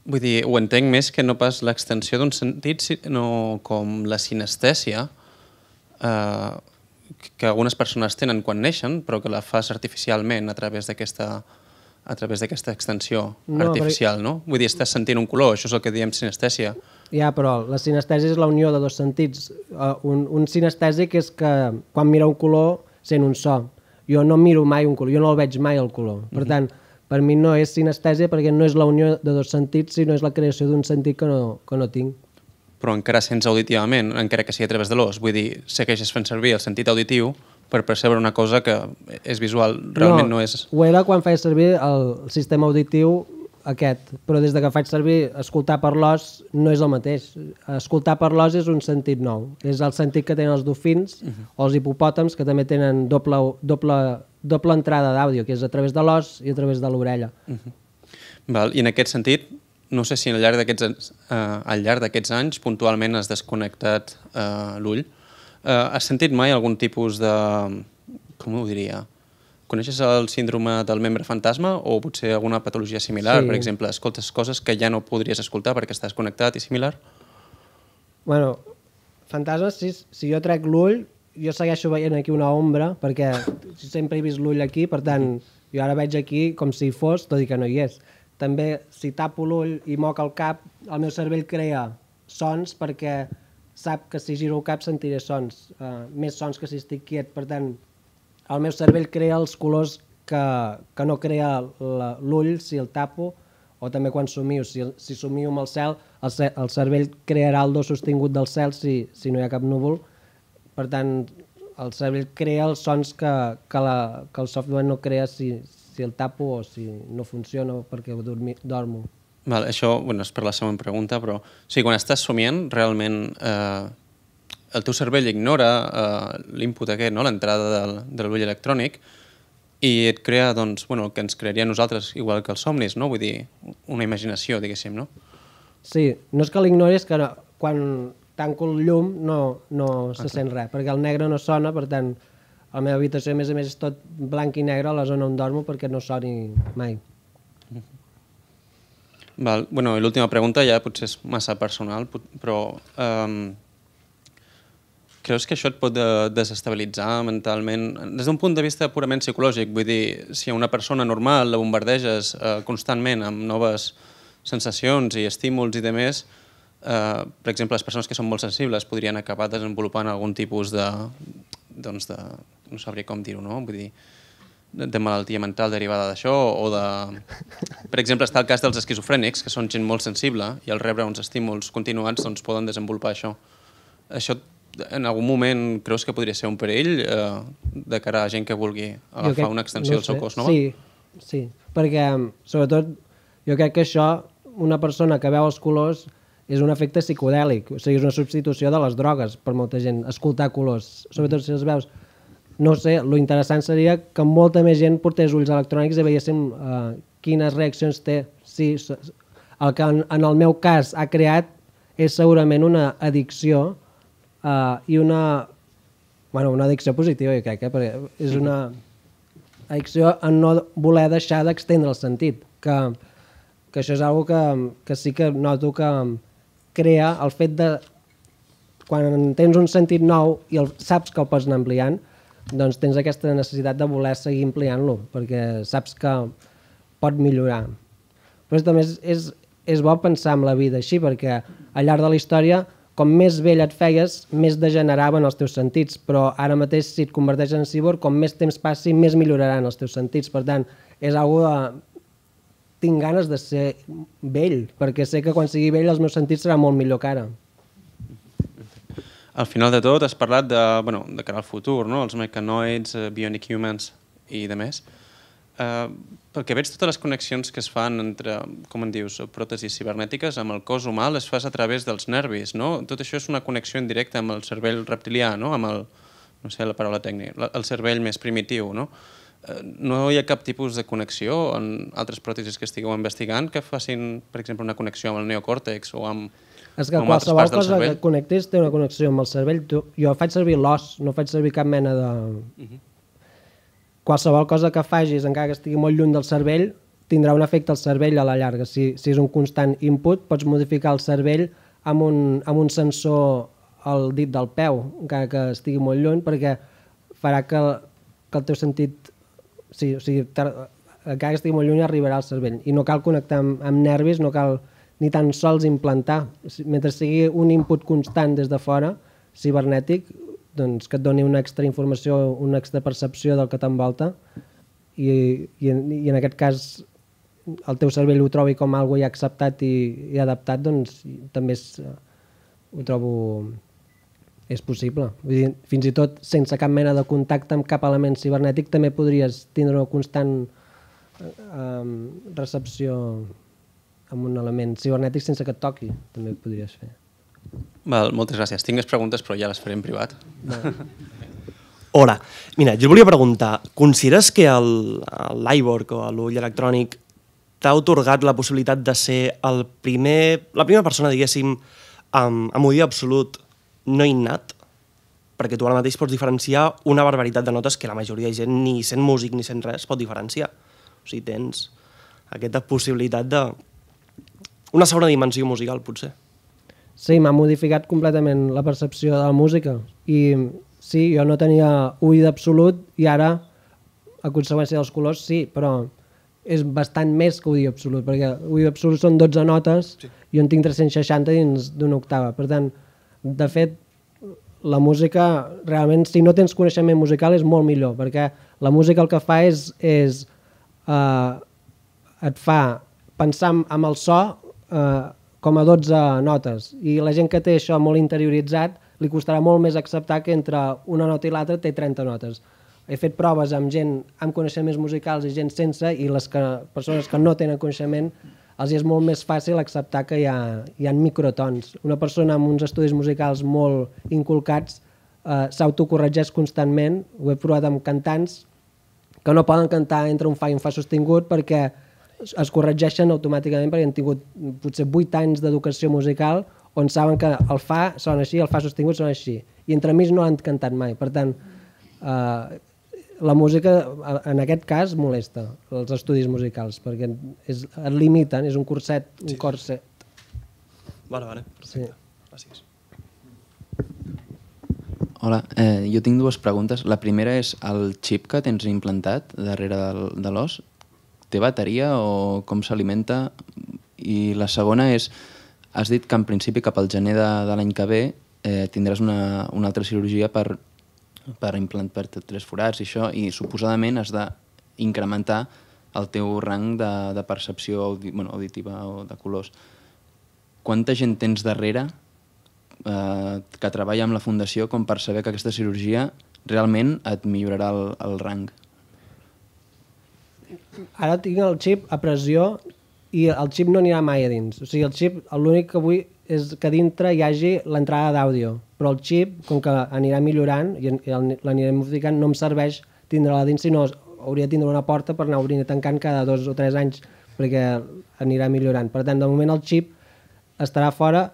Speaker 5: vull dir, ho entenc més que no pas l'extensió d'un sentit, sinó com la sinestèsia uh, que algunes persones tenen quan neixen, però que la fas artificialment a través d'aquesta a través d'aquesta extensió no, artificial, no? Vull dir, estàs sentint un color, això és el que diem sinestèsia.
Speaker 2: Ja, però la sinestèsia és la unió de dos sentits. Uh, un, un sinestèsic és que quan mira un color sent un so. Jo no miro mai un color, jo no el veig mai el color. Per tant, per mi no és sinestèsia perquè no és la unió de dos sentits, sinó és la creació d'un sentit que no, que no tinc.
Speaker 5: Però encara sents auditivament, encara que sigui a través de l'os. Vull dir, segueixes fent servir el sentit auditiu per percebre una cosa que és visual, realment no, no és...
Speaker 2: Ho era quan feia servir el sistema auditiu aquest, però des de que faig servir escoltar per l'os no és el mateix. Escoltar per l'os és un sentit nou. És el sentit que tenen els dofins uh -huh. o els hipopòtams, que també tenen doble, doble, doble entrada d'àudio, que és a través de l'os i a través de l'orella.
Speaker 5: Uh -huh. Val, i en aquest sentit, no sé si al llarg d'aquests eh, al llarg d'aquests anys puntualment has desconnectat eh, l'ull. Eh, has sentit mai algun tipus de... com ho diria? Coneixes el síndrome del membre fantasma o potser alguna patologia similar? Sí. Per exemple, escoltes coses que ja no podries escoltar perquè estàs connectat i similar?
Speaker 2: Bueno, fantasmes, si, si jo trec l'ull, jo segueixo veient aquí una ombra perquè sempre he vist l'ull aquí, per tant, jo ara veig aquí com si hi fos, tot i que no hi és. També, si tapo l'ull i moc el cap, el meu cervell crea sons perquè sap que si giro el cap sentiré sons, uh, més sons que si estic quiet. Per tant, el meu cervell crea els colors que, que no crea l'ull si el tapo, o també quan somio. Si, si somio amb el cel, el, el cervell crearà el do sostingut del cel si, si no hi ha cap núvol. Per tant, el cervell crea els sons que, que, la, que el software no crea si, si el tapo o si no funciona perquè dormi, dormo.
Speaker 5: Val, això bueno, és per la següent pregunta, però o sigui, quan estàs somiant, realment eh, el teu cervell ignora eh, l'input aquest, no? L'entrada del, de l'ull electrònic, i et crea doncs, bueno, el que ens crearia a nosaltres, igual que els somnis, no? Vull dir, una imaginació, diguéssim, no?
Speaker 2: Sí, no és que l'ignoris, que no, quan tanco el llum no, no se sent res, perquè el negre no sona, per tant, a la meva habitació, a més a més, és tot blanc i negre a la zona on dormo perquè no soni mai.
Speaker 5: Val. Bueno, i l'última pregunta ja potser és massa personal, però um, creus que això et pot desestabilitzar mentalment des d'un punt de vista purament psicològic? Vull dir, si a una persona normal la bombardeges uh, constantment amb noves sensacions i estímuls i demés, uh, per exemple, les persones que són molt sensibles podrien acabar desenvolupant algun tipus de, doncs de no sabria com dir-ho, no? Vull dir, de malaltia mental derivada d'això, o de... Per exemple, està el cas dels esquizofrènics, que són gent molt sensible i al rebre uns estímuls continuats doncs, poden desenvolupar això. Això, en algun moment, creus que podria ser un perill eh, de cara a gent que vulgui agafar crec, una extensió no del seu cos nova?
Speaker 2: Sí, sí, perquè, sobretot, jo crec que això, una persona que veu els colors, és un efecte psicodèlic, o sigui, és una substitució de les drogues per molta gent, escoltar colors, sobretot si els veus. No sé, lo interessant seria que molta més gent portés ulls electrònics i veiéssim uh, quines reaccions té. Sí, el que en, en el meu cas ha creat és segurament una addicció uh, i una... Bueno, una addicció positiva, jo crec, eh? Perquè és una addicció a no voler deixar d'extendre el sentit, que, que això és una que, que sí que noto que crea el fet de... Quan tens un sentit nou i el, saps que el pots anar ampliant, doncs tens aquesta necessitat de voler seguir ampliant-lo, perquè saps que pot millorar. Però també és, és, és bo pensar en la vida així, perquè al llarg de la història, com més vell et feies, més degeneraven els teus sentits, però ara mateix, si et converteixes en cíborg, com més temps passi, més milloraran els teus sentits. Per tant, és algo de... Tinc ganes de ser vell, perquè sé que quan sigui vell els meus sentits seran molt millor que ara.
Speaker 5: Al final de tot has parlat de, bueno, de cara al futur, no? Els mecanoids, uh, bionic humans i de més. Uh, pel que veig, totes les connexions que es fan entre, com en dius, pròtesis cibernètiques amb el cos humà les fas a través dels nervis, no? Tot això és una connexió indirecta amb el cervell reptilià, no? Amb el, no sé la paraula tècnica, el cervell més primitiu, no? Uh, no hi ha cap tipus de connexió en altres pròtesis que estigueu investigant que facin, per exemple, una connexió amb el neocòrtex o amb...
Speaker 2: És que qualsevol cosa que connectis té una connexió amb el cervell. Jo faig servir l'os, no faig servir cap mena de... Uh-huh. Qualsevol cosa que facis, encara que estigui molt lluny del cervell, tindrà un efecte al cervell a la llarga. Si, si és un constant input, pots modificar el cervell amb un, amb un sensor al dit del peu, encara que estigui molt lluny, perquè farà que, que el teu sentit... Sí, o sigui, encara que estigui molt lluny arribarà al cervell. I no cal connectar amb, amb nervis, no cal... ni tan sols implantar. Mentre sigui un input constant des de fora, cibernètic, doncs que et doni una extra informació, una extra percepció del que t'envolta i, i, en, i en aquest cas el teu cervell ho trobi com algo ja acceptat i, i adaptat, doncs també és, ho trobo és possible. Vull dir, fins i tot sense cap mena de contacte amb cap element cibernètic també podries tindre una constant eh, recepció amb un element cibernètic sense que et toqui, també ho podries fer.
Speaker 5: Val, moltes gràcies. Tinc més preguntes però ja les faré en privat.
Speaker 6: Hola, mira, jo volia preguntar, consideres que l'iVork o l'ull electrònic t'ha atorgat la possibilitat de ser el primer, la primera persona, diguéssim, amb, amb oïda absolut no innat? Perquè tu ara mateix pots diferenciar una barbaritat de notes que la majoria de gent, ni sent músic ni sent res, pot diferenciar. O sigui, tens aquesta possibilitat de... una segona dimensió musical, potser.
Speaker 2: Sí, m'ha modificat completament la percepció de la música i sí, jo no tenia oïda absolut i ara, a conseqüència dels colors, sí, però és bastant més que oïda absolut, perquè oïda absolut són dotze notes sí. I jo en tinc tres-cents seixanta dins d'una octava. Per tant, de fet, la música, realment, si no tens coneixement musical és molt millor, perquè la música el que fa és, és eh, et fa pensar amb el so eh, com a dotze notes, i la gent que té això molt interioritzat li costarà molt més acceptar que entre una nota i l'altra té trenta notes. He fet proves amb gent amb coneixements musicals i gent sense, i les que, persones que no tenen coneixement els és molt més fàcil acceptar que hi ha, hi ha microtons. Una persona amb uns estudis musicals molt inculcats eh, s'autocorregeix constantment. Ho he provat amb cantants que no poden cantar entre un fa i un fa sostingut perquè es corregeixen automàticament, perquè han tingut potser vuit anys d'educació musical on saben que el fa sona així, el fa sostingut sona així, i entremig no l'han cantat mai. Per tant, eh, la música en aquest cas molesta, els estudis musicals, perquè és, et limiten, és un curset, un sí. corset.
Speaker 6: Vale, vale, perfecte. Sí. Gràcies.
Speaker 7: Hola, eh, jo tinc dues preguntes. La primera és, el xip que tens implantat darrere del, de l'os, té bateria o com s'alimenta? I la segona és, has dit que en principi cap al gener de, de l'any que ve eh, tindràs una, una altra cirurgia per, per implant per tres forats i això, i suposadament has d'incrementar el teu rang de, de percepció audi, bueno, auditiva o de colors. Quanta gent tens darrere eh, que treballa amb la fundació com per saber que aquesta cirurgia realment et millorarà el, el rang?
Speaker 2: Ara tinc el xip a pressió i el xip no anirà mai a dins. O sigui, el xip, l'únic que vull és que dintre hi hagi l'entrada d'àudio, però el xip, com que anirà millorant i l'anirem modificant, no em serveix tindre-la dins, sinó hauria de tindre una porta per anar obrint i tancant cada dos o tres anys perquè anirà millorant. Per tant, de moment el xip estarà fora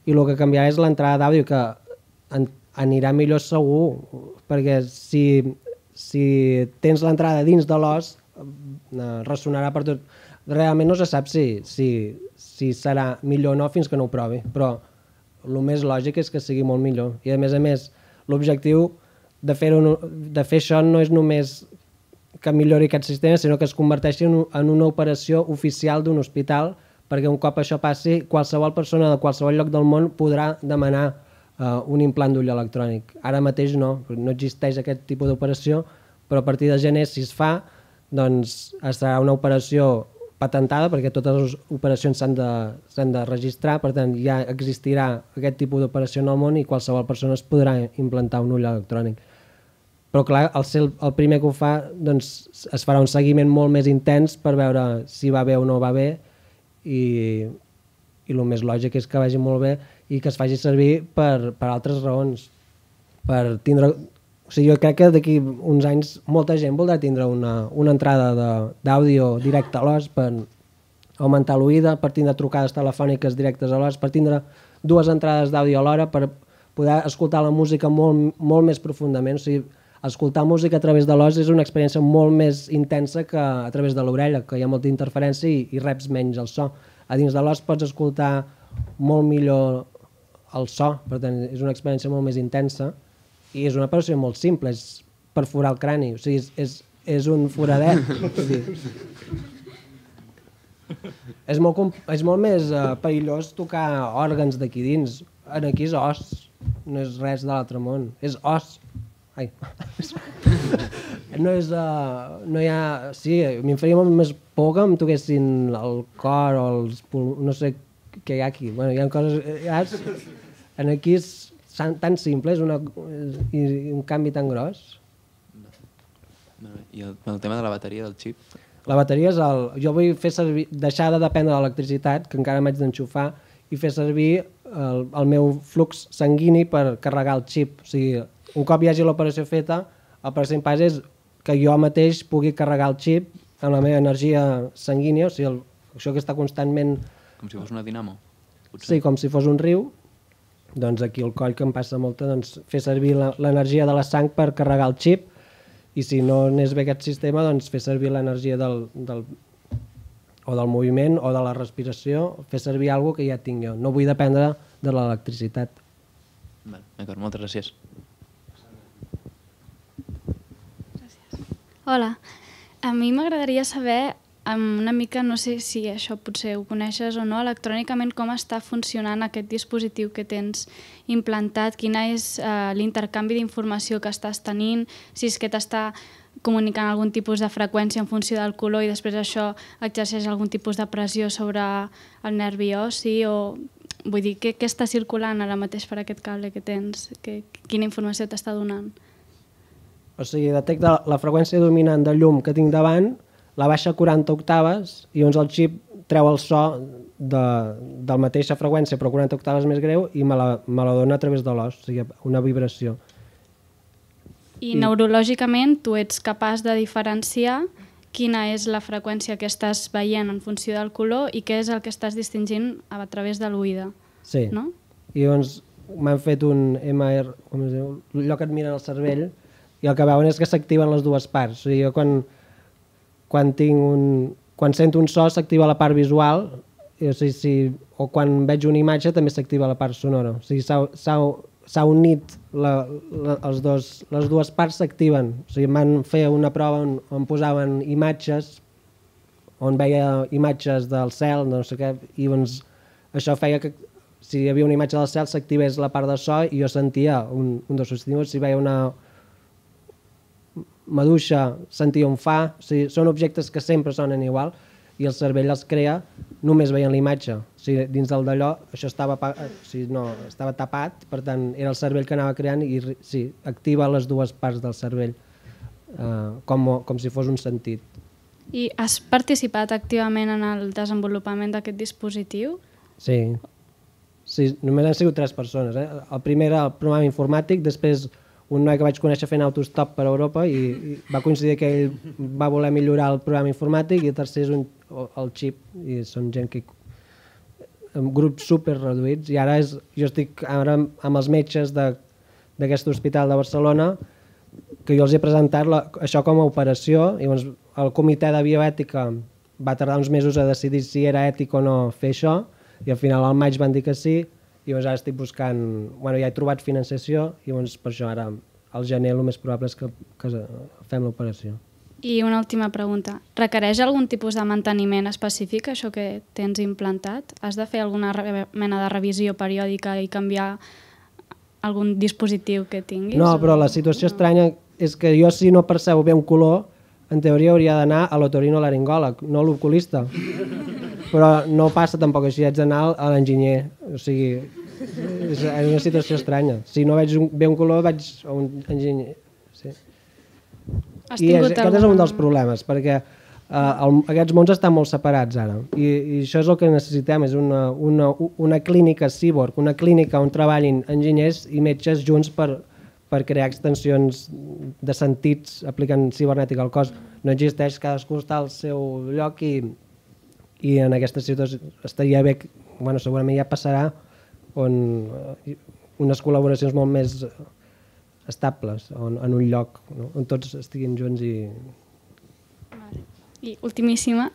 Speaker 2: i el que canviarà és l'entrada d'àudio, que anirà millor segur, perquè si, si tens l'entrada dins de l'os ressonarà per tot. Realment no se sap si, si, si serà millor o no fins que no ho provi, però el més lògic és que sigui molt millor. I a més a més, l'objectiu de, de fer això no és només que millori aquest sistema, sinó que es converteixi en, en una operació oficial d'un hospital, perquè un cop això passi, qualsevol persona de qualsevol lloc del món podrà demanar uh, un implant d'ull electrònic. Ara mateix no, no existeix aquest tipus d'operació, però a partir de gener, si es fa, doncs serà una operació patentada, perquè totes les operacions s'han de, s'han de registrar, per tant ja existirà aquest tipus d'operació en el món i qualsevol persona es podrà implantar un ull electrònic. Però clar, al ser el primer que ho fa, doncs es farà un seguiment molt més intens per veure si va bé o no va bé, i, i el més lògic és que vagi molt bé i que es faci servir per, per altres raons. Per tindre... O sigui, jo crec que d'aquí uns anys molta gent voldrà tindre una, una entrada d'àudio directe a l'os per augmentar l'oïda, per tindre trucades telefòniques directes a l'os, per tindre dues entrades d'àudio alhora, per poder escoltar la música molt, molt més profundament. O sigui, escoltar música a través de l'os és una experiència molt més intensa que a través de l'orella, que hi ha molta interferència i, i reps menys el so. A dins de l'os pots escoltar molt millor el so, per tant és una experiència molt més intensa. I és una operació molt simple, és perforar el crani, o sigui, és, és, és un foradet. és, molt, és molt més uh, perillós tocar òrgans d'aquí dins. Aquí és os, no és res de l'altre món, és os. Ai. No és... Uh, no hi ha... Sí, m'hi faria molt més por que em toquessin el cor o els pul... No sé què hi ha aquí. Bueno, hi ha coses... Ja, en aquí és tan simple, és una, i un canvi tan gros.
Speaker 7: I el, el tema de la bateria del xip?
Speaker 2: La bateria és el... Jo vull fer servir, deixar de dependre de l'electricitat, que encara m'haig d'enxufar, i fer servir el, el meu flux sanguini per carregar el xip. O sigui, un cop hi hagi l'operació feta, el pròxim pas és que jo mateix pugui carregar el xip amb la meva energia sanguínia, o sigui, el, això que està constantment...
Speaker 7: Com si fos una dinamo? Potser.
Speaker 2: Sí, com si fos un riu. Doncs aquí el coll que em passa molta, doncs, fer servir l'energia de la sang per carregar el xip, i si no anés bé aquest sistema, doncs fer servir l'energia del, del, o del moviment o de la respiració, fer servir alguna que ja tinc jo. No vull dependre de l'electricitat.
Speaker 7: D'acord, moltes gràcies.
Speaker 8: Hola, a mi m'agradaria saber una mica, no sé si això potser ho coneixes o no, electrònicament com està funcionant aquest dispositiu que tens implantat, quina és uh, l'intercanvi d'informació que estàs tenint, si és que t'està comunicant algun tipus de freqüència en funció del color i després això exerceix algun tipus de pressió sobre el nervi ossi, o vull dir, què, què està circulant ara mateix per aquest cable que tens? Que, quina informació t'està donant?
Speaker 2: O sigui, detecta la freqüència dominant de llum que tinc davant, la baixa a quaranta octaves i llavors el xip treu el so de, de la mateixa freqüència però quaranta octaves més greu i me la, me la dona a través de l'os, o sigui, una vibració.
Speaker 8: I, I neurològicament tu ets capaç de diferenciar quina és la freqüència que estàs veient en funció del color i què és el que estàs distingint a través de l'oïda.
Speaker 2: Sí,
Speaker 8: no?
Speaker 2: I llavors m'han fet un M R, com es diu, allò que et miren el cervell, i el que veuen és que s'activen les dues parts. O sigui, jo quan, quan, tinc un, quan sento un so s'activa la part visual, i, o, sigui, si, o quan veig una imatge també s'activa la part sonora. O sigui, s'ha unit, la, la, els dos, les dues parts s'activen. O sigui, van fer una prova on, on posaven imatges, on veia imatges del cel, no sé què, i doncs això feia que si hi havia una imatge del cel s'activés la part de so i jo sentia un, un dels substituts, si veia una maduixa sentia un fa, o sigui, són objectes que sempre sonen igual i el cervell els crea només veient la imatge. O sigui, dins del d'allò això estava, o sigui, no, estava tapat, per tant era el cervell que anava creant i sí, activa les dues parts del cervell eh, com, com si fos un sentit.
Speaker 8: I has participat activament en el desenvolupament d'aquest dispositiu?
Speaker 2: Sí. Sí, només han sigut tres persones. Eh? El primer era el programa informàtic, després un noi que vaig conèixer fent autostop per Europa i, i va coincidir que ell va voler millorar el programa informàtic i el tercer és un, el xip i són gent que en grups super reduïts i ara és, jo estic ara amb els metges d'aquest hospital de Barcelona que jo els he presentat la, això com a operació i llavors el comitè de bioètica va tardar uns mesos a decidir si era ètic o no fer això i al final al maig van dir que sí i llavors ara estic buscant, bueno, ja he trobat financiació i llavors per això ara al gener el més probable és que, que fem l'operació.
Speaker 8: I una última pregunta, requereix algun tipus de manteniment específic això que tens implantat? Has de fer alguna mena de revisió periòdica i canviar algun dispositiu que tinguis?
Speaker 2: No, però la situació estranya és que jo si no percebo bé un color en teoria hauria d'anar a l'otorinolaringòleg, no a l'oculista. Però no passa tampoc així, haig d'anar a l'enginyer, o sigui, és una situació estranya. Si no veig un, bé un color, vaig a un enginyer. Sí. I és, aquest és un dels problemes, perquè uh, el, aquests mons estan molt separats ara, i, i això és el que necessitem, és una, una, una clínica cyborg, una clínica on treballin enginyers i metges junts per, per crear extensions de sentits aplicant cibernètica al cos. No existeix, cadascú està al seu lloc i i en aquesta situació estaria bé, bueno, segurament ja passarà on unes col·laboracions molt més estables on, en un lloc, no? On tots estiguin junts i...
Speaker 8: Vale. I ultimíssima,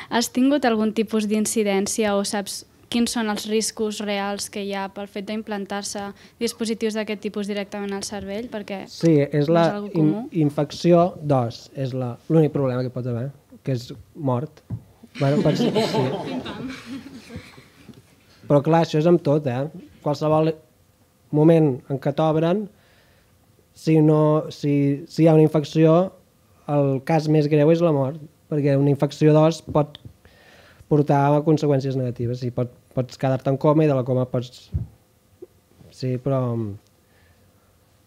Speaker 8: has tingut algun tipus d'incidència o saps quins són els riscos reals que hi ha pel fet d'implantar-se dispositius d'aquest tipus directament al cervell? Perquè
Speaker 2: sí, és la
Speaker 8: no és in,
Speaker 2: infecció d'os, és l'únic problema que pot haver, que és mort. Bueno, pots, sí. Però clar, això és amb tot, eh? Qualsevol moment en què t'obren, si, no, si, si hi ha una infecció, el cas més greu és la mort, perquè una infecció d'os pot portar a conseqüències negatives. Sí, pot, pots quedar-te en coma i de la coma pots... Sí, però...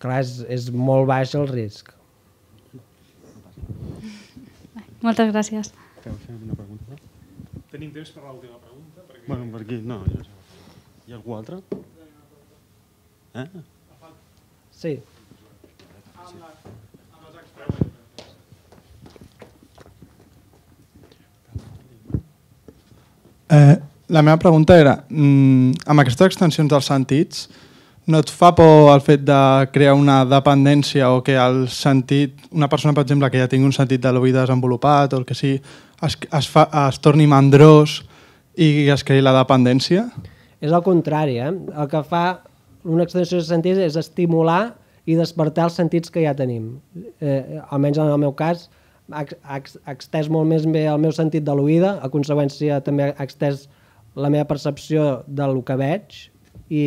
Speaker 2: Clar, és, és molt baix el risc.
Speaker 8: Moltes gràcies.
Speaker 9: Una pregunta?
Speaker 1: Tenim temps per l'última pregunta? Perquè...
Speaker 9: Bueno, per aquí, no. Hi ha algú altre? Eh?
Speaker 2: Sí.
Speaker 10: Eh, la meva pregunta era, mm, amb aquestes extensions dels sentits, no et fa por el fet de crear una dependència o que el sentit, una persona, per exemple, que ja tingui un sentit de l'oïda desenvolupat o el que sigui, es, es, fa, es torni mandrós i es creï la dependència?
Speaker 2: És el contrari, eh? El que fa una extensió de sentits és estimular i despertar els sentits que ja tenim. Eh, almenys en el meu cas, ha, ha, ha extès molt més bé el meu sentit de l'oïda, a conseqüència també ha extès la meva percepció del que veig i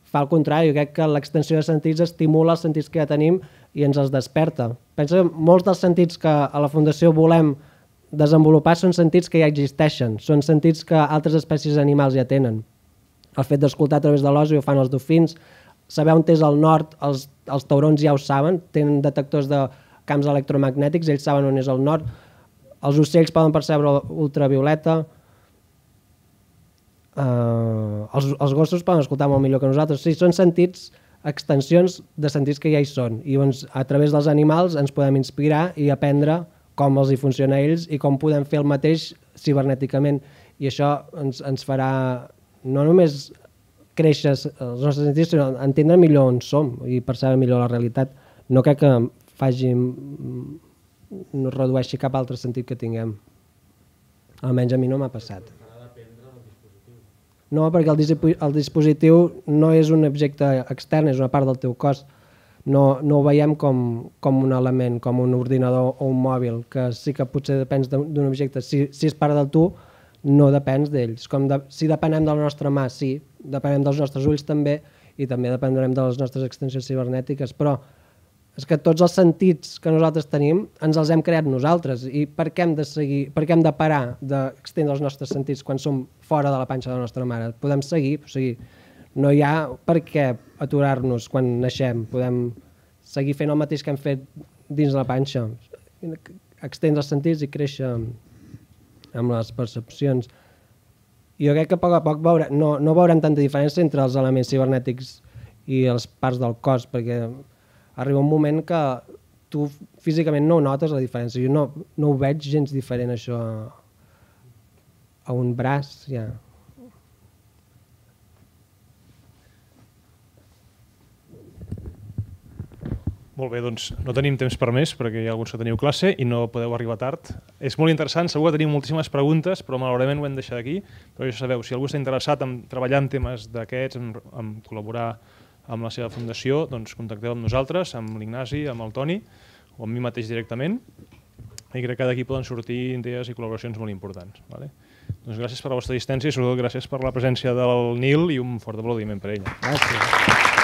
Speaker 2: fa el contrari. Jo crec que l'extensió de sentits estimula els sentits que ja tenim i ens els desperta. Penso que molts dels sentits que a la Fundació volem desenvolupar són sentits que ja existeixen, són sentits que altres espècies animals ja tenen. El fet d'escoltar a través de l'os, ho fan els dofins, saber on és el nord, els, els taurons ja ho saben, tenen detectors de camps electromagnètics, ells saben on és el nord, els ocells poden percebre ultravioleta, Uh, els, els gossos poden escoltar molt millor que nosaltres. Sí, són sentits, extensions de sentits que ja hi són. I doncs, a través dels animals ens podem inspirar i aprendre com els hi funciona a ells i com podem fer el mateix cibernèticament. I això ens, ens farà no només créixer els nostres sentits, sinó entendre millor on som i percebre millor la realitat. No crec que faci, no redueixi cap altre sentit que tinguem. Almenys a mi no m'ha passat. No, perquè el, el dispositiu no és un objecte extern, és una part del teu cos. No, no ho veiem com, com un element, com un ordinador o un mòbil, que sí que potser depens d'un objecte. Si, si és part del tu, no depens d'ells. De, si depenem de la nostra mà, sí, depenem dels nostres ulls també, i també dependrem de les nostres extensions cibernètiques, però és que tots els sentits que nosaltres tenim ens els hem creat nosaltres. I per què hem de seguir, per què hem de parar d'extendre els nostres sentits quan som fora de la panxa de la nostra mare? Podem seguir, o sigui, no hi ha per què aturar-nos quan naixem. Podem seguir fent el mateix que hem fet dins la panxa, extendre els sentits i créixer amb les percepcions. Jo crec que a poc a poc veure, no, no veurem tanta diferència entre els elements cibernètics i les parts del cos, perquè arriba un moment que tu físicament no notes la diferència. Jo no, no ho veig gens diferent, això, a, a un braç. Ja.
Speaker 1: Molt bé, doncs no tenim temps per més perquè hi ha alguns que teniu classe i no podeu arribar tard. És molt interessant, segur que tenim moltíssimes preguntes, però malauradament ho hem deixat aquí. Però ja sabeu, si algú està interessat en treballar en temes d'aquests, en, en col·laborar amb la seva fundació, doncs contacteu amb nosaltres, amb l'Ignasi, amb el Toni o amb mi mateix directament, i crec que d'aquí poden sortir idees i col·laboracions molt importants. Vale? Doncs gràcies per la vostra assistència i sobretot gràcies per la presència del Nil i un fort aplaudiment per ell.
Speaker 2: Gràcies.